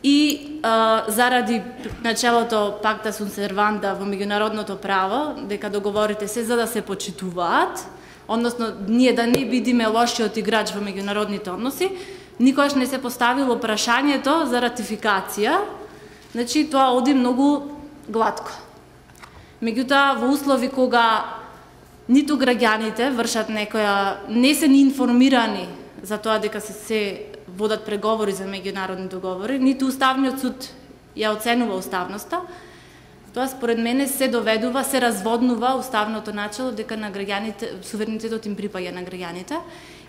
И заради начелото пакта сунт серванда во меѓународното право, дека договорите се за да се почитуваат, односно ние да не бидиме лошиот играч во меѓународните односи, никогаш не се поставило прашањето за ратификација, значи тоа оди многу глатко. Меѓутоа, во услови кога ниту граѓаните вршат не се ни информирани за тоа дека се водат преговори за меѓународни договори, ниту Уставниот суд ја оценува уставноста, тоа според мене се разводнува уставното начело дека на граѓаните суверенитетот им припаѓа на граѓаните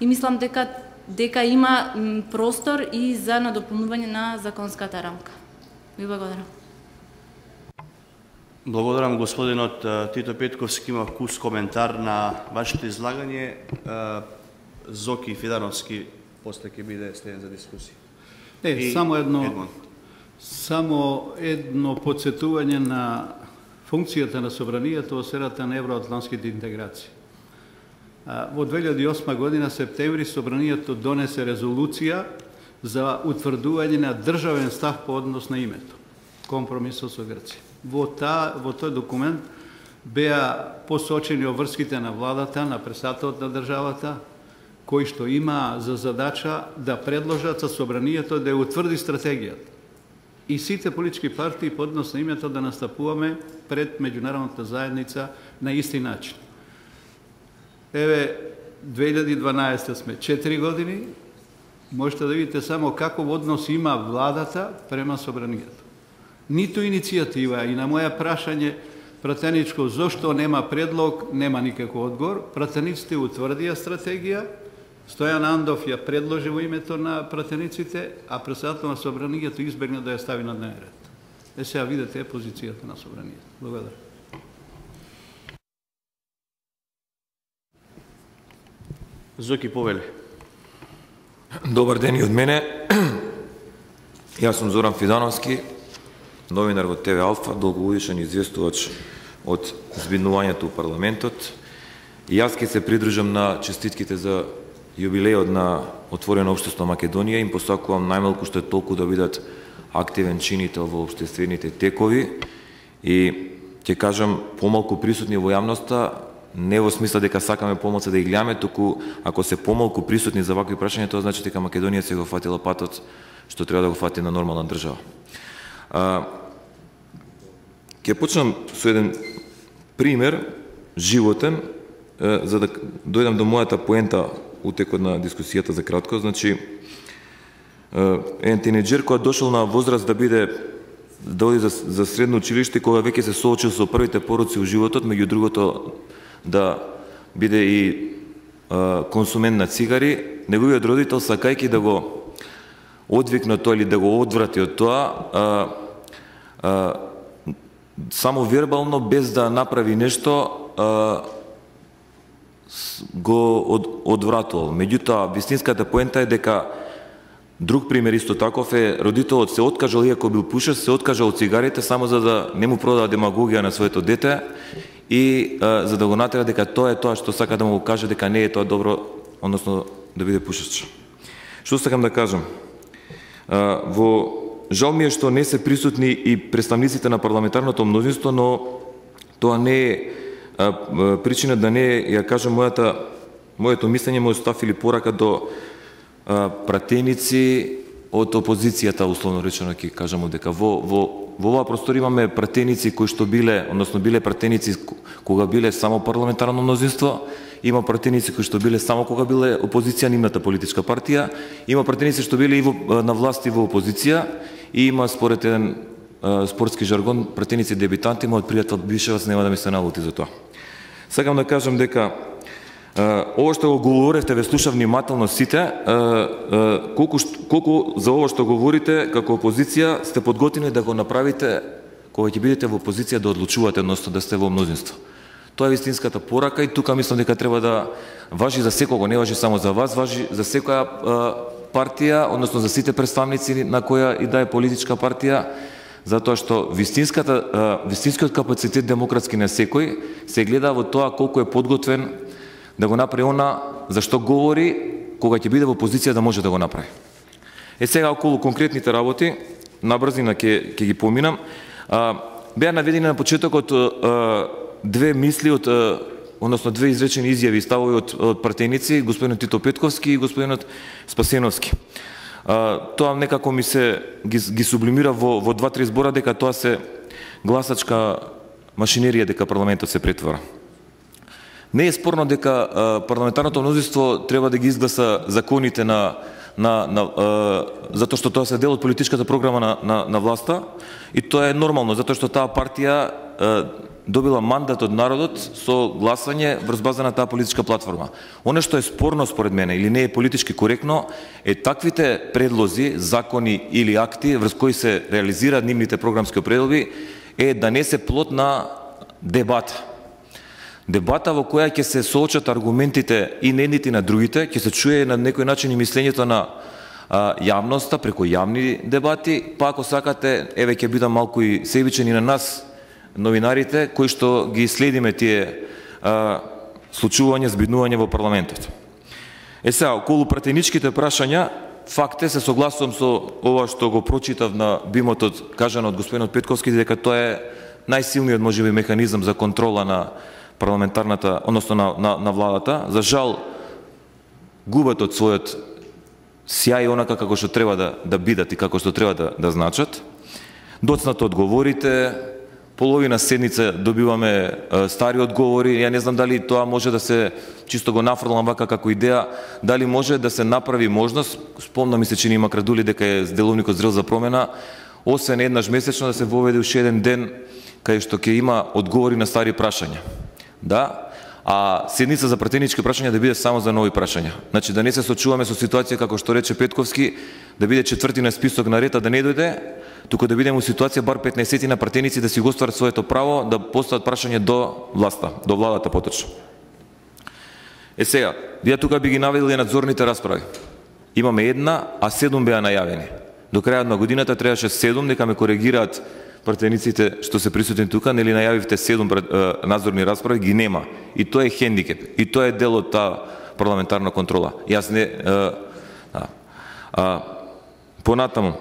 и мислам дека има простор и за надополнување на законската рамка. Ви благодарам. Благодарам господинот Тито Петковски, има вкус коментар на вашето излагање. Зоки Фидановски после ќе биде следен за дискусија. Само едно подсетување на функцијата на собранието во сферата на евроатлантските интеграции. Во 2008 година септември собранието донесе резолуција за утврдување на државен став по однос на името, компромисот со Грција. Во тој документ беа посочени обврските на владата, на председателот на државата, кои што има за задача да предложат со собранието да ја утврди стратегијата. И сите политички партии по однос на името да настапуваме пред меѓународната заедница на исти начин. Еве, 2012 сме 4 години, можете да видите само каков однос има владата према собранието. Ниту иницијатива и на моја прашање пратеничко зошто нема предлог, нема никаков одговор. Пратениците утврдија стратегија, Стојан Андов ја предложи во името на пратениците, а председател на собранието избегна да ја стави на дневен ред. Сега видите позицијата на собранието. Благодарам. Зоки Повели. Добар ден и од мене. Јас сум Зоран Фидановски, новинар во ТВ Алфа, долгогодишен известувач од збиднувањето у парламентот. И јас ќе се придружам на честитките за јубилејот на Отворено општество Македонија. Им посакувам најмалку што е толку да бидат активен чинител во општествените текови и ќе кажам помалку присутни во јавноста, не во смисла дека сакаме помалку да ги гледаме, туку ако се помалку присутни за вакви прашања, тоа значи дека Македонија се го фатила патот што треба да го фати на нормална држава. Ќе почнам со еден пример животен за да дојдам до мојата поента утекот на дискусијата за кратко. Значи, еден тинеџер кој дошол на возраст да биде да оди за средно училиште, кога веќе се соочил со првите пороци у животот, меѓу другото да биде и консумент на цигари, неговиот родител, сакајќи да го одвикне тоа или да го одврати од тоа, само вербално, без да направи нешто, го одвратувал. Меѓутоа, вистинската поента е дека друг пример исто таков е родителот се откажал, иако бил пушач, се откажал од цигарите само за да не му продава демагогија на своето дете и за да го натера дека тоа е тоа што сака да му каже, дека не е тоа добро, односно да биде пушач. Што сакам да кажам? Жал ми е што не се присутни и представниците на парламентарното мнозинство, но тоа не е причина да не ја кажам моето мислење, мојот став или порака до пратеници од опозицијата, условно речено ќе кажам, дека во оваа простор имаме пратеници кои што биле, односно биле пратеници кога биле само парламентарно мнозинство, има пратеници кои што биле само кога биле опозиција нивната политичка партија, има пратеници што биле и на власт и во опозиција, и има според еден спортски жаргон пратеници дебитанти, мојот пријател Бишеваc нема да ми се налути за тоа. Сакам да кажам дека ова што го говоревте, ве слушав внимателно сите, колку за ова што говорите како опозиција сте подготвени да го направите кога ќе бидете во опозиција, да одлучувате, односно да сте во мнозинство. Тоа е вистинската порака и тука мислам дека треба да важи за секого, не важи само за вас, важи за секоја партија, односно за сите представници на која и да е политичка партија, затоа што вистинскиот капацитет демократски на секој се гледа во тоа колку е подготвен да го направи она за што говори, кога ќе биде во позиција да може да го направи. Сега околу конкретните работи, набрзина ќе ги поминам. Беа наведени на почетокот две мисли односно две изречени изјави и ставови од пратеници, господинот Тито Петковски и господинот Спасеновски. Тоа некако ми се ги сублимира во два-три збора дека тоа се гласачка машинерија, дека парламентот се претвора. Не е спорно дека парламентарното мнозинство треба да ги изгласа законите затоа што тоа се дел од политичката програма на власта, и тоа е нормално затоа што таа партија добила мандат од народот со гласање врз база на таа политичка платформа. Оно што е спорно според мене или не е политички коректно е таквите предлози, закони или акти врз кои се реализираат нивните програмски определби е да не се плод на дебата. Дебата во која ќе се соочат аргументите и на едните и на другите, ќе се чуе на некој начин и мислењето на јавноста преку јавни дебати, па ако сакате, еве ќе бидам малку и себичен и на нас, новинарите, кои што ги следиме тие случувања, збиднување во парламентот. Сега, околу пратеничките прашања, факт е, се согласувам со ова што го прочитав на бимотот, кажано од господинот Петковски, дека тоа е најсилниот можеби механизам за контрола на парламентарната, односно на владата. За жал, губат од својот сјај онака како што треба да бидат и како што треба да значат. Доцнато одговорите, половина седница добиваме стари одговори. Ја не знам дали тоа може да се, чисто го нафрлам вака како идеја, дали може да се направи можност, спомна ми се че има Крадули дека е деловникот зрел за промена, освен еднаш месечно да се воведе уште еден ден кај што ќе има одговори на стари прашања. Да, а седница за пратенички прашања да биде само за нови прашања. Значи да не се сочуваме со ситуација како што рече Петковски, да биде четврти на список на ред, да не дојде, туку да бидеме у ситуација бар 15 на пратеници да си го остварат своето право да постават прашање до власта, до владата поточно. Сега, ја тука би ги наведил надзорните расправи. Имаме една, а 7 беа најавени. До крајот на годината требаше 7, дека ме коригираат пратениците што се присутни тука, нели најавивте 7 надзорни расправи, ги нема. И тоа е хендикеп. И тоа е дел од таа парламентарна контрола. Јас не понатаму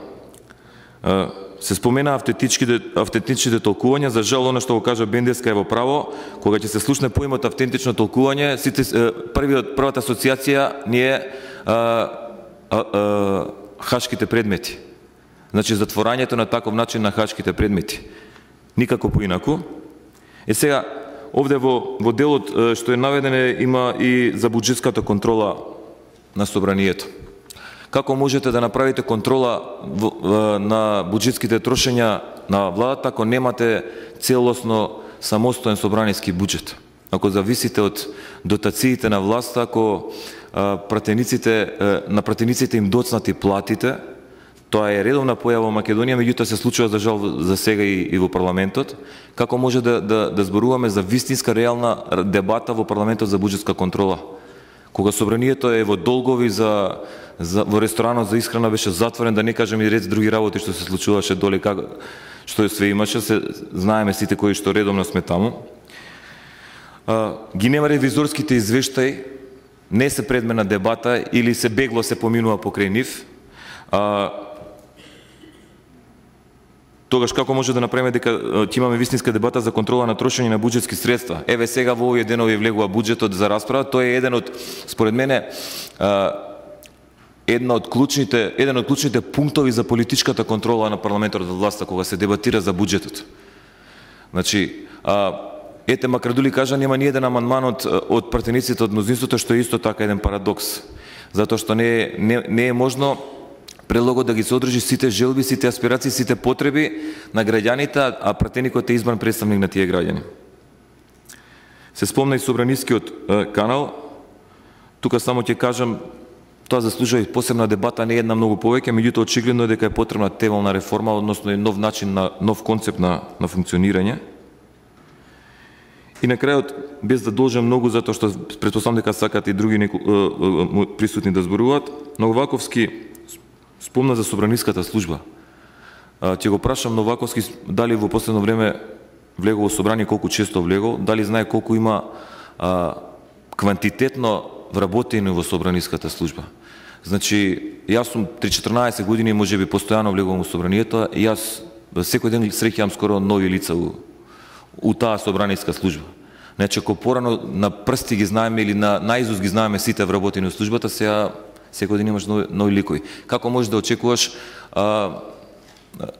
се спомена автентичните толкувања. За жал, оно што го кажа Бендеска е во право. Кога ќе се слушне поимот автентично толкување, првата асоциација ни е хашките предмети. Значи, затворањето на таков начин на хашките предмети. Никако поинаку. Сега, овде во делот што е наведен има и за буџетската контрола на собранието. Како можете да направите контрола на буџетските трошења на владата ако немате целосно самостоен собраниски буџет? Ако зависите од дотациите на власта, ако на пратениците им доцнати платите, тоа е редовна појава во Македонија, меѓутоа се случува за жал за сега и во парламентот. Како може да зборуваме за вистинска реална дебата во парламентот за буџетска контрола? Кога собранието е во долгови во ресторанот за исхрана беше затворен, да не кажем и ред други работи што се случуваше доле, што све имаше, знаеме сите кои што редовно сме таму. Ги нема ревизорските извештаи, не се предмет на дебата или се бегло се поминува покрај нив. Тогаш како може да направиме дека ќе имаме вистинска дебата за контрола на трошење на буџетски средства? Еве сега во овие денови влегува буџетот за расправа, тој е еден од, според мене, еден од клучните пунктови за политичката контрола на парламентот од власта кога се дебатира за буџетот. Значи, ете, макар дули кажа, нема ни еден амандман од пратениците од мнозинството, што е исто така еден парадокс. Затоа што не е можно предлогот да ги содржи сите желби, сите аспирации, сите потреби на граѓаните, а пратеникот е избран представник на тие граѓани. Се спомна и собранискиот канал. Тука само ќе кажам, тоа заслужува и посебна дебата, не една многу повеќе, меѓутоа очигледно е дека е потребна тевална реформа, односно нов начин нов концепт на функционирање. И на крајот, без да должам многу, затоа што претпоставам дека сакат и други присутни да зборуваат, Новаковски спомна за собраниската служба. Ќе го прашам Новаковски дали во последно време влегол во собрание, колку често влегол, дали знае колку има квантитетно вработени во собраниската служба. Значи, јас сум 3-14 години, можеби постојано влегувам во собранието, и јас секој ден среќавам скоро нови лица у таа собраниска служба. Значи, ако порано на прсти ги знаеме или на наизуст ги знаеме сите вработени во службата, сега секој ден имаш нови ликови. Како можеш да очекуваш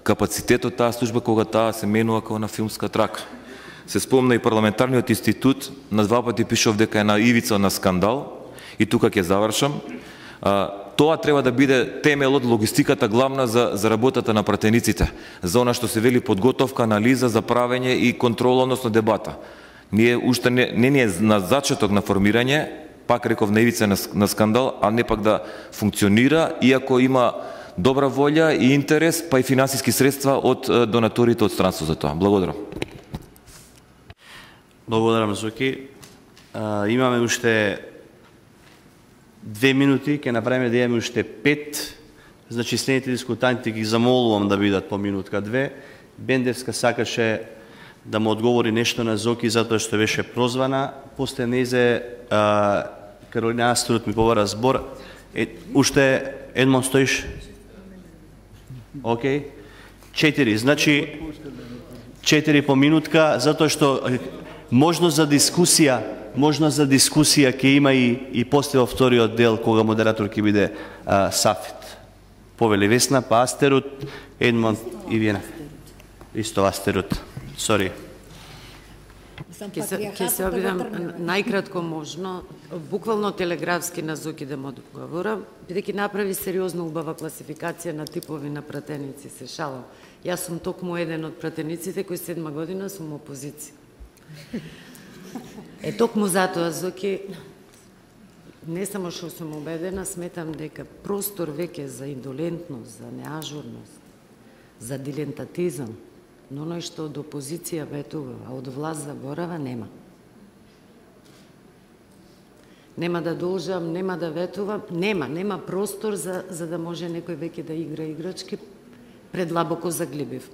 капацитетот таа служба кога таа се менува како на филмска трака? Се спомна и парламентарниот институт, на 2 пати пишав дека е на ивица на скандал, и тука ќе завршам. Тоа треба да биде темелот, логистиката главна за работата на пратениците, за она што се вели подготовка, анализа, за правење и контрола, односно дебата. Ние уште не е на зачеток на формирање, пак реков на ивица на скандал, а не пак да функционира, иако има добра волја и интерес, па и финансиски средства од донаторите од странство за тоа. Благодарам. Благодарам, Зоки. Имаме уште 2 минути, ќе направиме да имаме уште 5. Значи, следните дискутанти ги замолувам да бидат по минутка-2. Бендевска сакаше да му одговори нешто на Зоки, затоа што беше прозвана. После незе Каролина Аструт ми побара збор. Уште Едмон стоиш? Окей. 4. Значи, 4 по минутка, затоа што можност за дискусија ќе има и после во вториот дел, кога модератор ќе биде Сафет. Повели Весна, па Астерут, Едмон и Виена. Исто Астерут. Сори. Ќе се обидам најкратко можно, буквално телеграфски на Зоки да му одговорам, бидејќи направи сериозно убава класификација на типови на пратеници, се шалам. Јас сум токму еден од пратениците кои 7 година сум опозиција. Токму затоа, Зоки, не само што сум убедена, сметам дека простор веќе за индолентност, за неажурност, за дилентатизам, но оној што од опозиција ветува, а од власт заборава, нема. Нема да должам, нема да ветувам, нема простор за да може некој веќе да игра играчки предлабоко заглибив.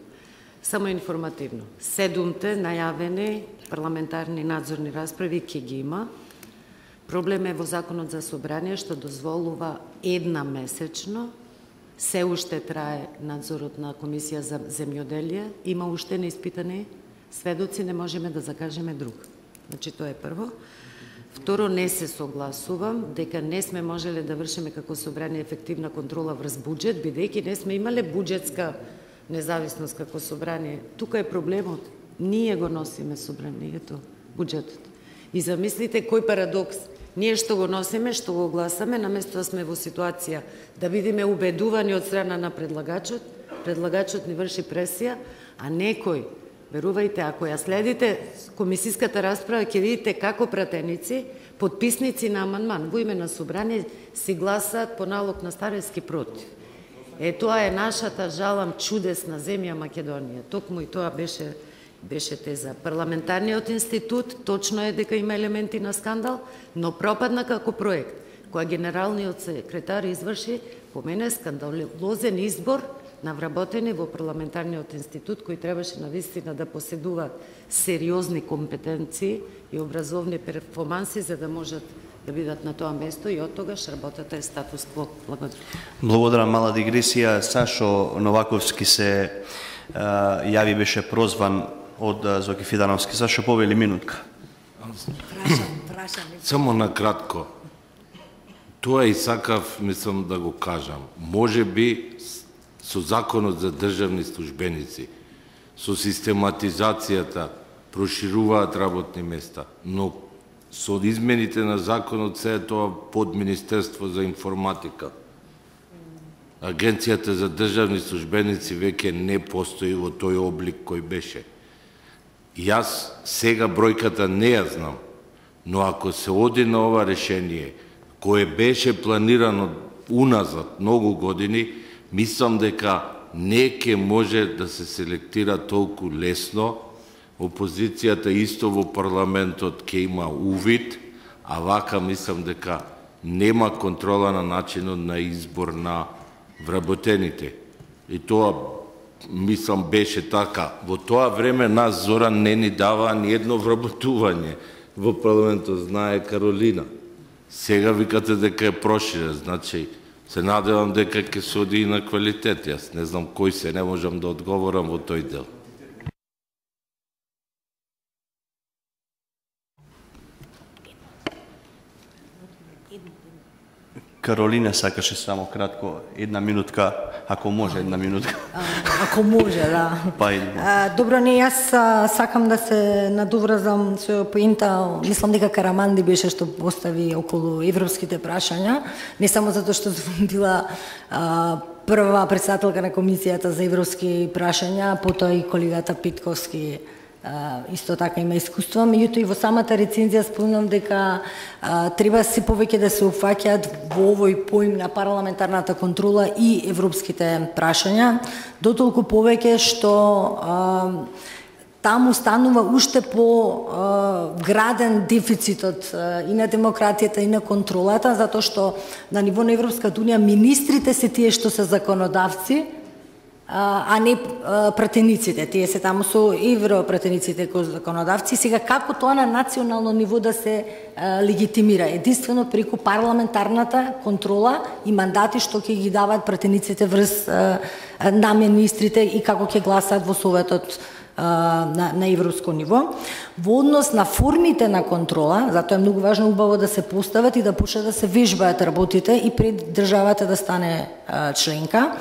Само информативно. 7 најавени парламентарни надзорни расправи ќе ги има. Проблем е во Законот за собрание што дозволува 1 месечно. Се уште трае надзорот на Комисија за земјоделие. Има уште неиспитани сведоци, не можеме да закажеме друг. Значи, тоа е прво. Второ, не се согласувам дека не сме можеле да вршиме како собрание ефективна контрола врз буџет, бидејќи не сме имале буџетска независност како собрание. Тука е проблемот. Ние го носиме собранието, буџетот. И замислите кој парадокс. Ние што го носиме, што го гласаме, наместо да сме во ситуација да бидеме убедувани од страна на предлагачот ни врши пресија, а некој, верувајте, ако ја следите комисиската расправа, ќе видите како пратеници, подписници на амандман во име на собрание си гласаат по налог на Старевски против. Тоа е нашата, жалам, чудесна земја Македонија. Токму и тоа беше теза. Парламентарниот институт точно е дека има елементи на скандал, но пропадна како проект. Која генералниот секретар изврши, по мене, скандалозен избор на вработени во парламентарниот институт, кој требаше навистина да поседува сериозни компетенции и образовни перформанси за да можат да бидат на тоа место и од тогаш работата е статус кво. Благодарам. Благодарам, мала дигресија. Сашо Новаковски се јави, беше прозван од Зоки Фидановски. Сашо, повели минутка. Само на кратко. Тоа и сакав, мислам да го кажам. Може би со законот за државни службеници, со систематизацијата прошируваат работни места, но со измените на законот се е тоа под Министерство за информатика. Агенцијата за државни службеници веќе не постои во тој облик кој беше. Јас сега бројката не ја знам, но ако се оди на ова решение, кое беше планирано уназад многу години, мислам дека не ќе може да се селектира толку лесно. Опозицијата исто во парламентот ќе има увид, а вака мислам дека нема контрола на начинот на избор на вработените. И тоа, мислам, беше така. Во тоа време нас Зоран не ни дава ни едно вработување во парламентот, знае Каролина. Сега викате дека е проширен, значи се надевам дека ќе се оди и на квалитет. Јас не знам кој се, не можам да одговорам во тој дел. Каролина сакаше само кратко, една минутка, ако може една минутка. Ако може, да. Добро, не, јас сакам да се надоврзам со поинта, мислам дека Караманди беше што постави околу европските прашања, не само затоа што сум била прва председателка на Комисијата за европски прашања, потоа и колегата Питковски исто така има искуство, меѓутоа и во самата рецензија спомнам дека треба се повеќе да се уфаќаат во овој поим на парламентарната контрола и европските прашања, дотолку повеќе што таму станува уште по граден дефицитот и на демократијата и на контролата, затоа што на ниво на Европската унија министрите се тие што се законодавци, а не пратениците. Тие се таму со европратениците кои законодавци. Сега како тоа на национално ниво да се легитимира? Единствено преку парламентарната контрола и мандати што ќе ги даваат пратениците врз на министрите и како ќе гласаат во Советот на европско ниво. Во однос на формите на контрола, затоа е многу важно убаво да се постават и да почнат да се вежбаат работите и пред државата да стане членка.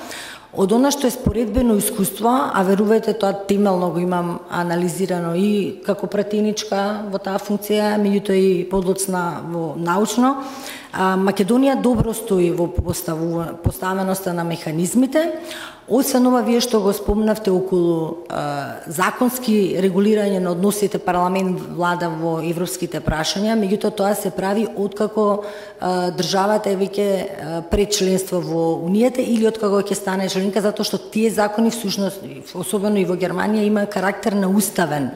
Од она што е споредбено искуство, а верувајте тоа темелно го имам анализирано и како пратеничка во таа функција, меѓутоа и подоцна во научно, Македонија добро стои во поставеноста на механизмите. Освен ова, вие што го спомнавте околу законски регулирање на односите парламент-влада во европските прашања, меѓутоа тоа се прави откако државата е веќе пред членство во Унијата или откако ќе стане членка, затоа што тие закони всушност, особено и во Германија, има карактер на уставен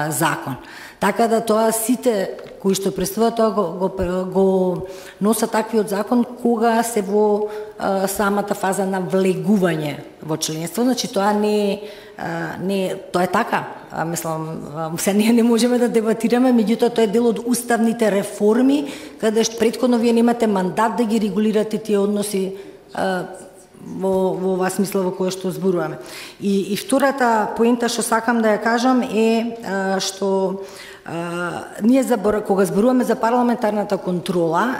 закон. Така да тоа сите кои што представуваат тоа го носат таквиот закон кога се во самата фаза на влегување во членство. Значи тоа не тоа е така. Мислам, се ние не можеме да дебатираме, меѓутоа тоа е дел од уставните реформи, каде што претходно вие немате мандат да ги регулирате тие односи во оваа смисла во која што зборуваме. И втората поинта што сакам да ја кажам е што ние кога зборуваме за парламентарната контрола,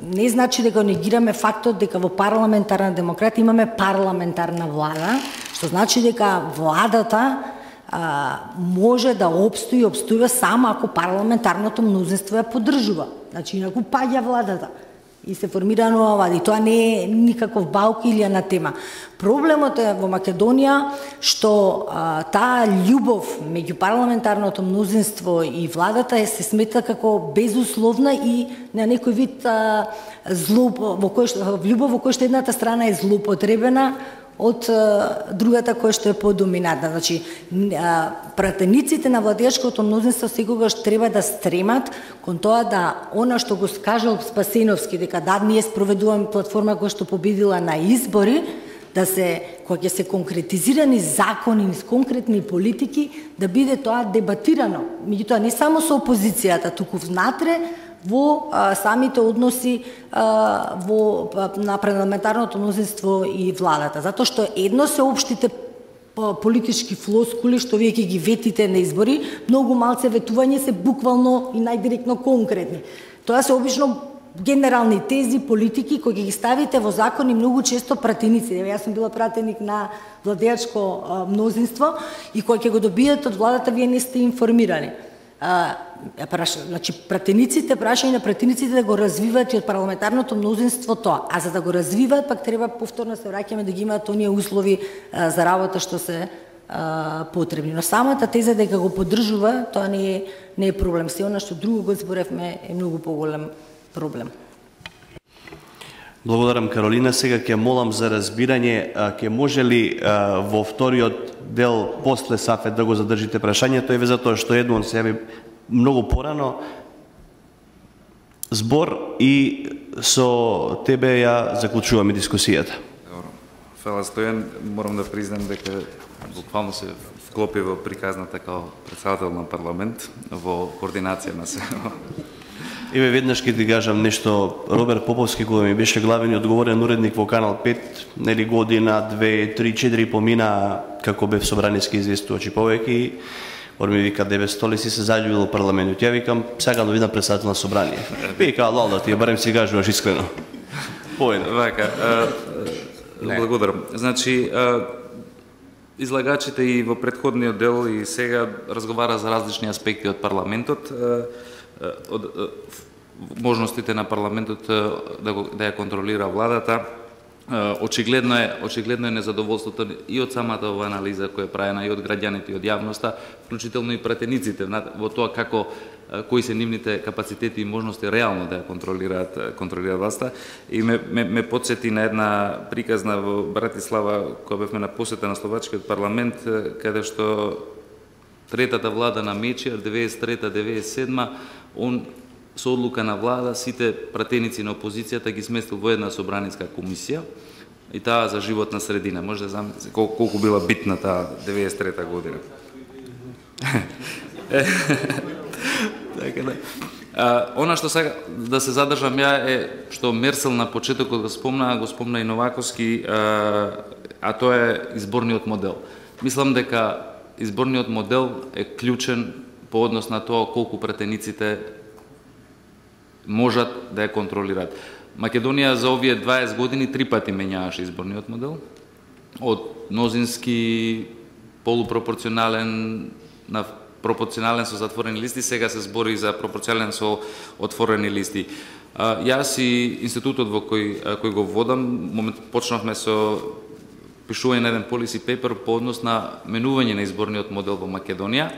не значи дека негираме фактот дека во парламентарна демократија имаме парламентарна влада, што значи дека владата може да обстои само ако парламентарното мнозинство ја поддржува. Значи, инаку паѓа владата и се формира нова влада. И тоа не е никаков баук или анатема. Проблемот е во Македонија што таа љубов меѓу парламентарното мнозинство и владата се смета како безусловна и на некој вид љубов во кој што едната страна е злоупотребена од другата која што е подоминантна. Значи, пратениците на владеачкото мнозинство секогаш треба да стремат кон тоа да она што го кажал Спасеновски, дека да, ние спроведуваме платформа која што победила на избори, да се, кога ќе се конкретизирани закони, конкретни политики, да биде тоа дебатирано. Меѓутоа, не само со опозицијата, туку внатре, во самите односи на парламентарното мнозинство и владата. Затоа што едно се општите политички флоскули што вие ќе ги ветите на избори, многу малце ветување се буквално и најдиректно конкретни. Тоа се обично генерални тези, политики кои ги ставите во закони многу често пратеници. Јас сум била пратеник на владеачко мнозинство и кој ќе го добиете од владата, вие не сте информирани. Значи, прашање на пратениците да го развиваат и од парламентарното мнозинство тоа. А за да го развиваат, пак треба повторно се враќаме да ги имаат оние услови за работа што се потребни. Но самата теза дека го поддржува, тоа не е проблем. Се она што друго го зборевме е многу поголем проблем. Благодарам, Каролина. Сега ќе молам за разбирање, ќе може ли во вториот дел после Сафет да го задржите прашањето, еве затоа што Едмон се јави многу порано. Збор и со тебе ја заклучуваме дискусијата. Добро. Фала Стојан, морам да признам дека буквално се вклопи во приказната као председател на парламент во координација на се. Еве веднаш ќе ти кажам нешто. Роберт Поповски, кога ми беше главен и одговорен уредник во Канал 5, нели година, 2, 3, 4 помина како бев собраниски известувачи повеќе и он ми вика, деве столи си се заљубил во парламентот. Ја викам, сакам да видам председател на собрание. Вика, лалда ти, барем си кажуваш искрено. Поедно. Вака, благодарам. Значи, излагачите и во претходниот дел и сега разговара за различни аспекти од парламентот, од можностите на парламентот да ја контролира владата. Очигледно е незадоволството и од самата ова анализа која е правена и од граѓаните и од јавноста, вклучително и пратениците во тоа кои се нивните капацитети и можности реално да ја контролираат власта. И ме подсети на една приказна во Братислава кога бевме на посета на Словачкиот парламент, каде што третата влада на Мечиар 93-97, он со одлука на влада сите пратеници на опозицијата ги сместил во една собраниска комисија и таа за животна средина. Може да замислите колку била битна таа 93-та година. Така да. Она што сега да се задржам ја е што Мерсел на почетокот го спомна и Новаковски, а тоа е изборниот модел. Мислам дека изборниот модел е клучен по однос на тоа колку пратениците можат да ја контролираат. Македонија за овие 20 години 3 пати менјаваше изборниот модел. Од мнозински, полупропорционален на пропорционален со затворени листи, сега се збори за пропорционален со отворени листи. Јас и институтот во кој го водам, почнавме со пишување на еден policy paper по однос на менување на изборниот модел во Македонија.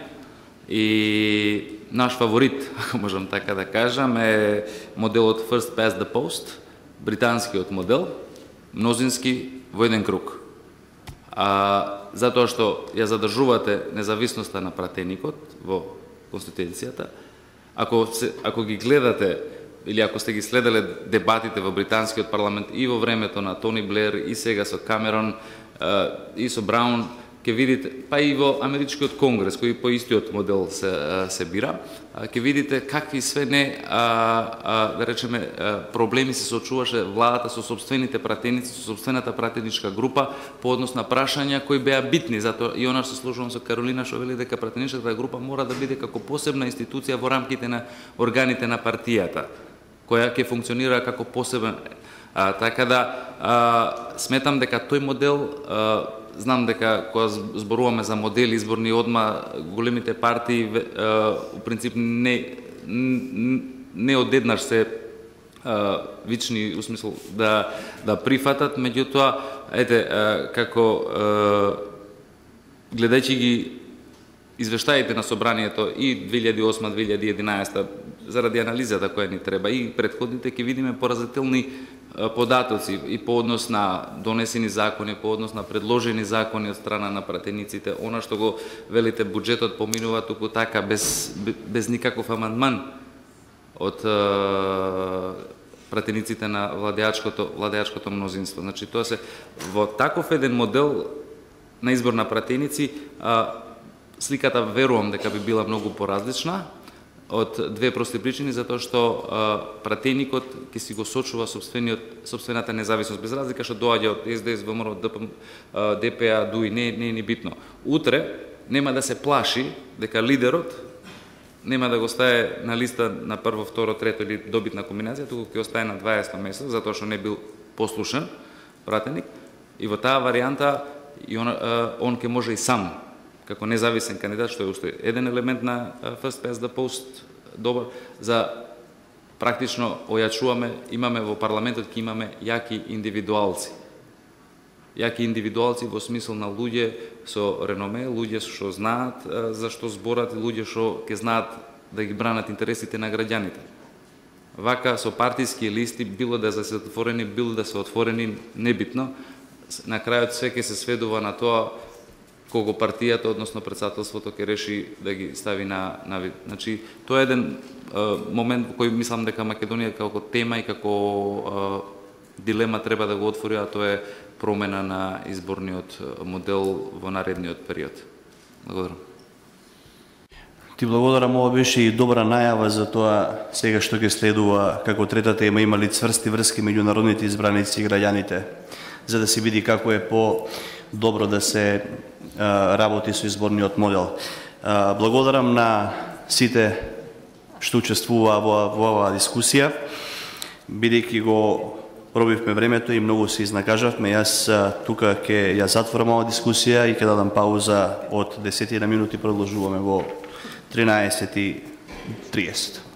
И наш фаворит, ако можам така да кажам, е моделот First Past the Post, британскиот модел, мнозински во еден круг. Затоа што ја задржувате независноста на пратеникот во Конституцијата, ако ги гледате или ако сте ги следеле дебатите во британскиот парламент и во времето на Тони Блер и сега со Камерон и со Браун, ќе видите, па и во Америчкиот конгрес, кој по истиот модел се бира, ќе видите какви све да речеме, проблеми се соочуваше владата со собствените пратеници, со собствената пратеничка група по однос на прашања кои беа битни. Затоа и она што се слушувам со Каролина што вели дека пратеничката група мора да биде како посебна институција во рамките на органите на партијата, која ќе функционира како посебен. Така да, сметам дека тој модел знам дека кога зборуваме за модели изборни, одма големите партии у принцип не одеднаш се вични, у смисол да прифатат, меѓутоа, како гледајќи ги извештаите на собранието и 2008-2011, заради анализата која ни треба, и предходните, ќе видиме поразителни податоци и по однос на донесени закони, по однос на предложени закони од страна на пратениците. Она што го велите, буџетот поминува туку така, без никаков амандман од пратениците на владеачкото мнозинство. Значи, тоа се во таков еден модел на избор на пратеници, сликата верувам дека би била многу поразлична од две прости причини, затоа што пратеникот ќе си го сочува собствената независност, без разлика што доаѓа од СДС, ВМРО, ДПА, ДУИ, не е ни битно. Утре нема да се плаши дека лидерот нема да го стае на листа на прво, второ, трето или добитна комбинација, туку ќе остае на 20 место, затоа што не бил послушен пратеник, и во таа варијанта он ќе може и сам, како независен кандидат, што е уште еден елемент на First Past the Post добар, за практично ојачуваме, имаме во парламентот, ќе имаме јаки индивидуалци. Јаки индивидуалци во смисол на луѓе со реноме, луѓе што знаат за што зборат, луѓе што ќе знаат да ги бранат интересите на граѓаните. Вака со партиски листи, било да се отворени, било да се отворени, небитно, на крајот све ќе се сведува на тоа кого партијата, односно председателството, ќе реши да ги стави на вид. Значи, тоа е еден момент во кој мислам дека Македонија како тема и како дилема треба да го отвори, а тоа е промена на изборниот модел во наредниот период. Благодарам. Ти благодарам, ова беше и добра најава за тоа сега што ќе следува како трета тема, има ли цврсти врски меѓу народните избраници и граѓаните, за да се види како е по-добро да се работи со изборниот модел. Благодарам на сите што учествуваа во оваа дискусија, бидејќи го пробивме времето и многу се изнакажавме. Јас тука ќе ја затворам оваа дискусија и ќе дадам пауза од 10 минути, продолжуваме во 13:30.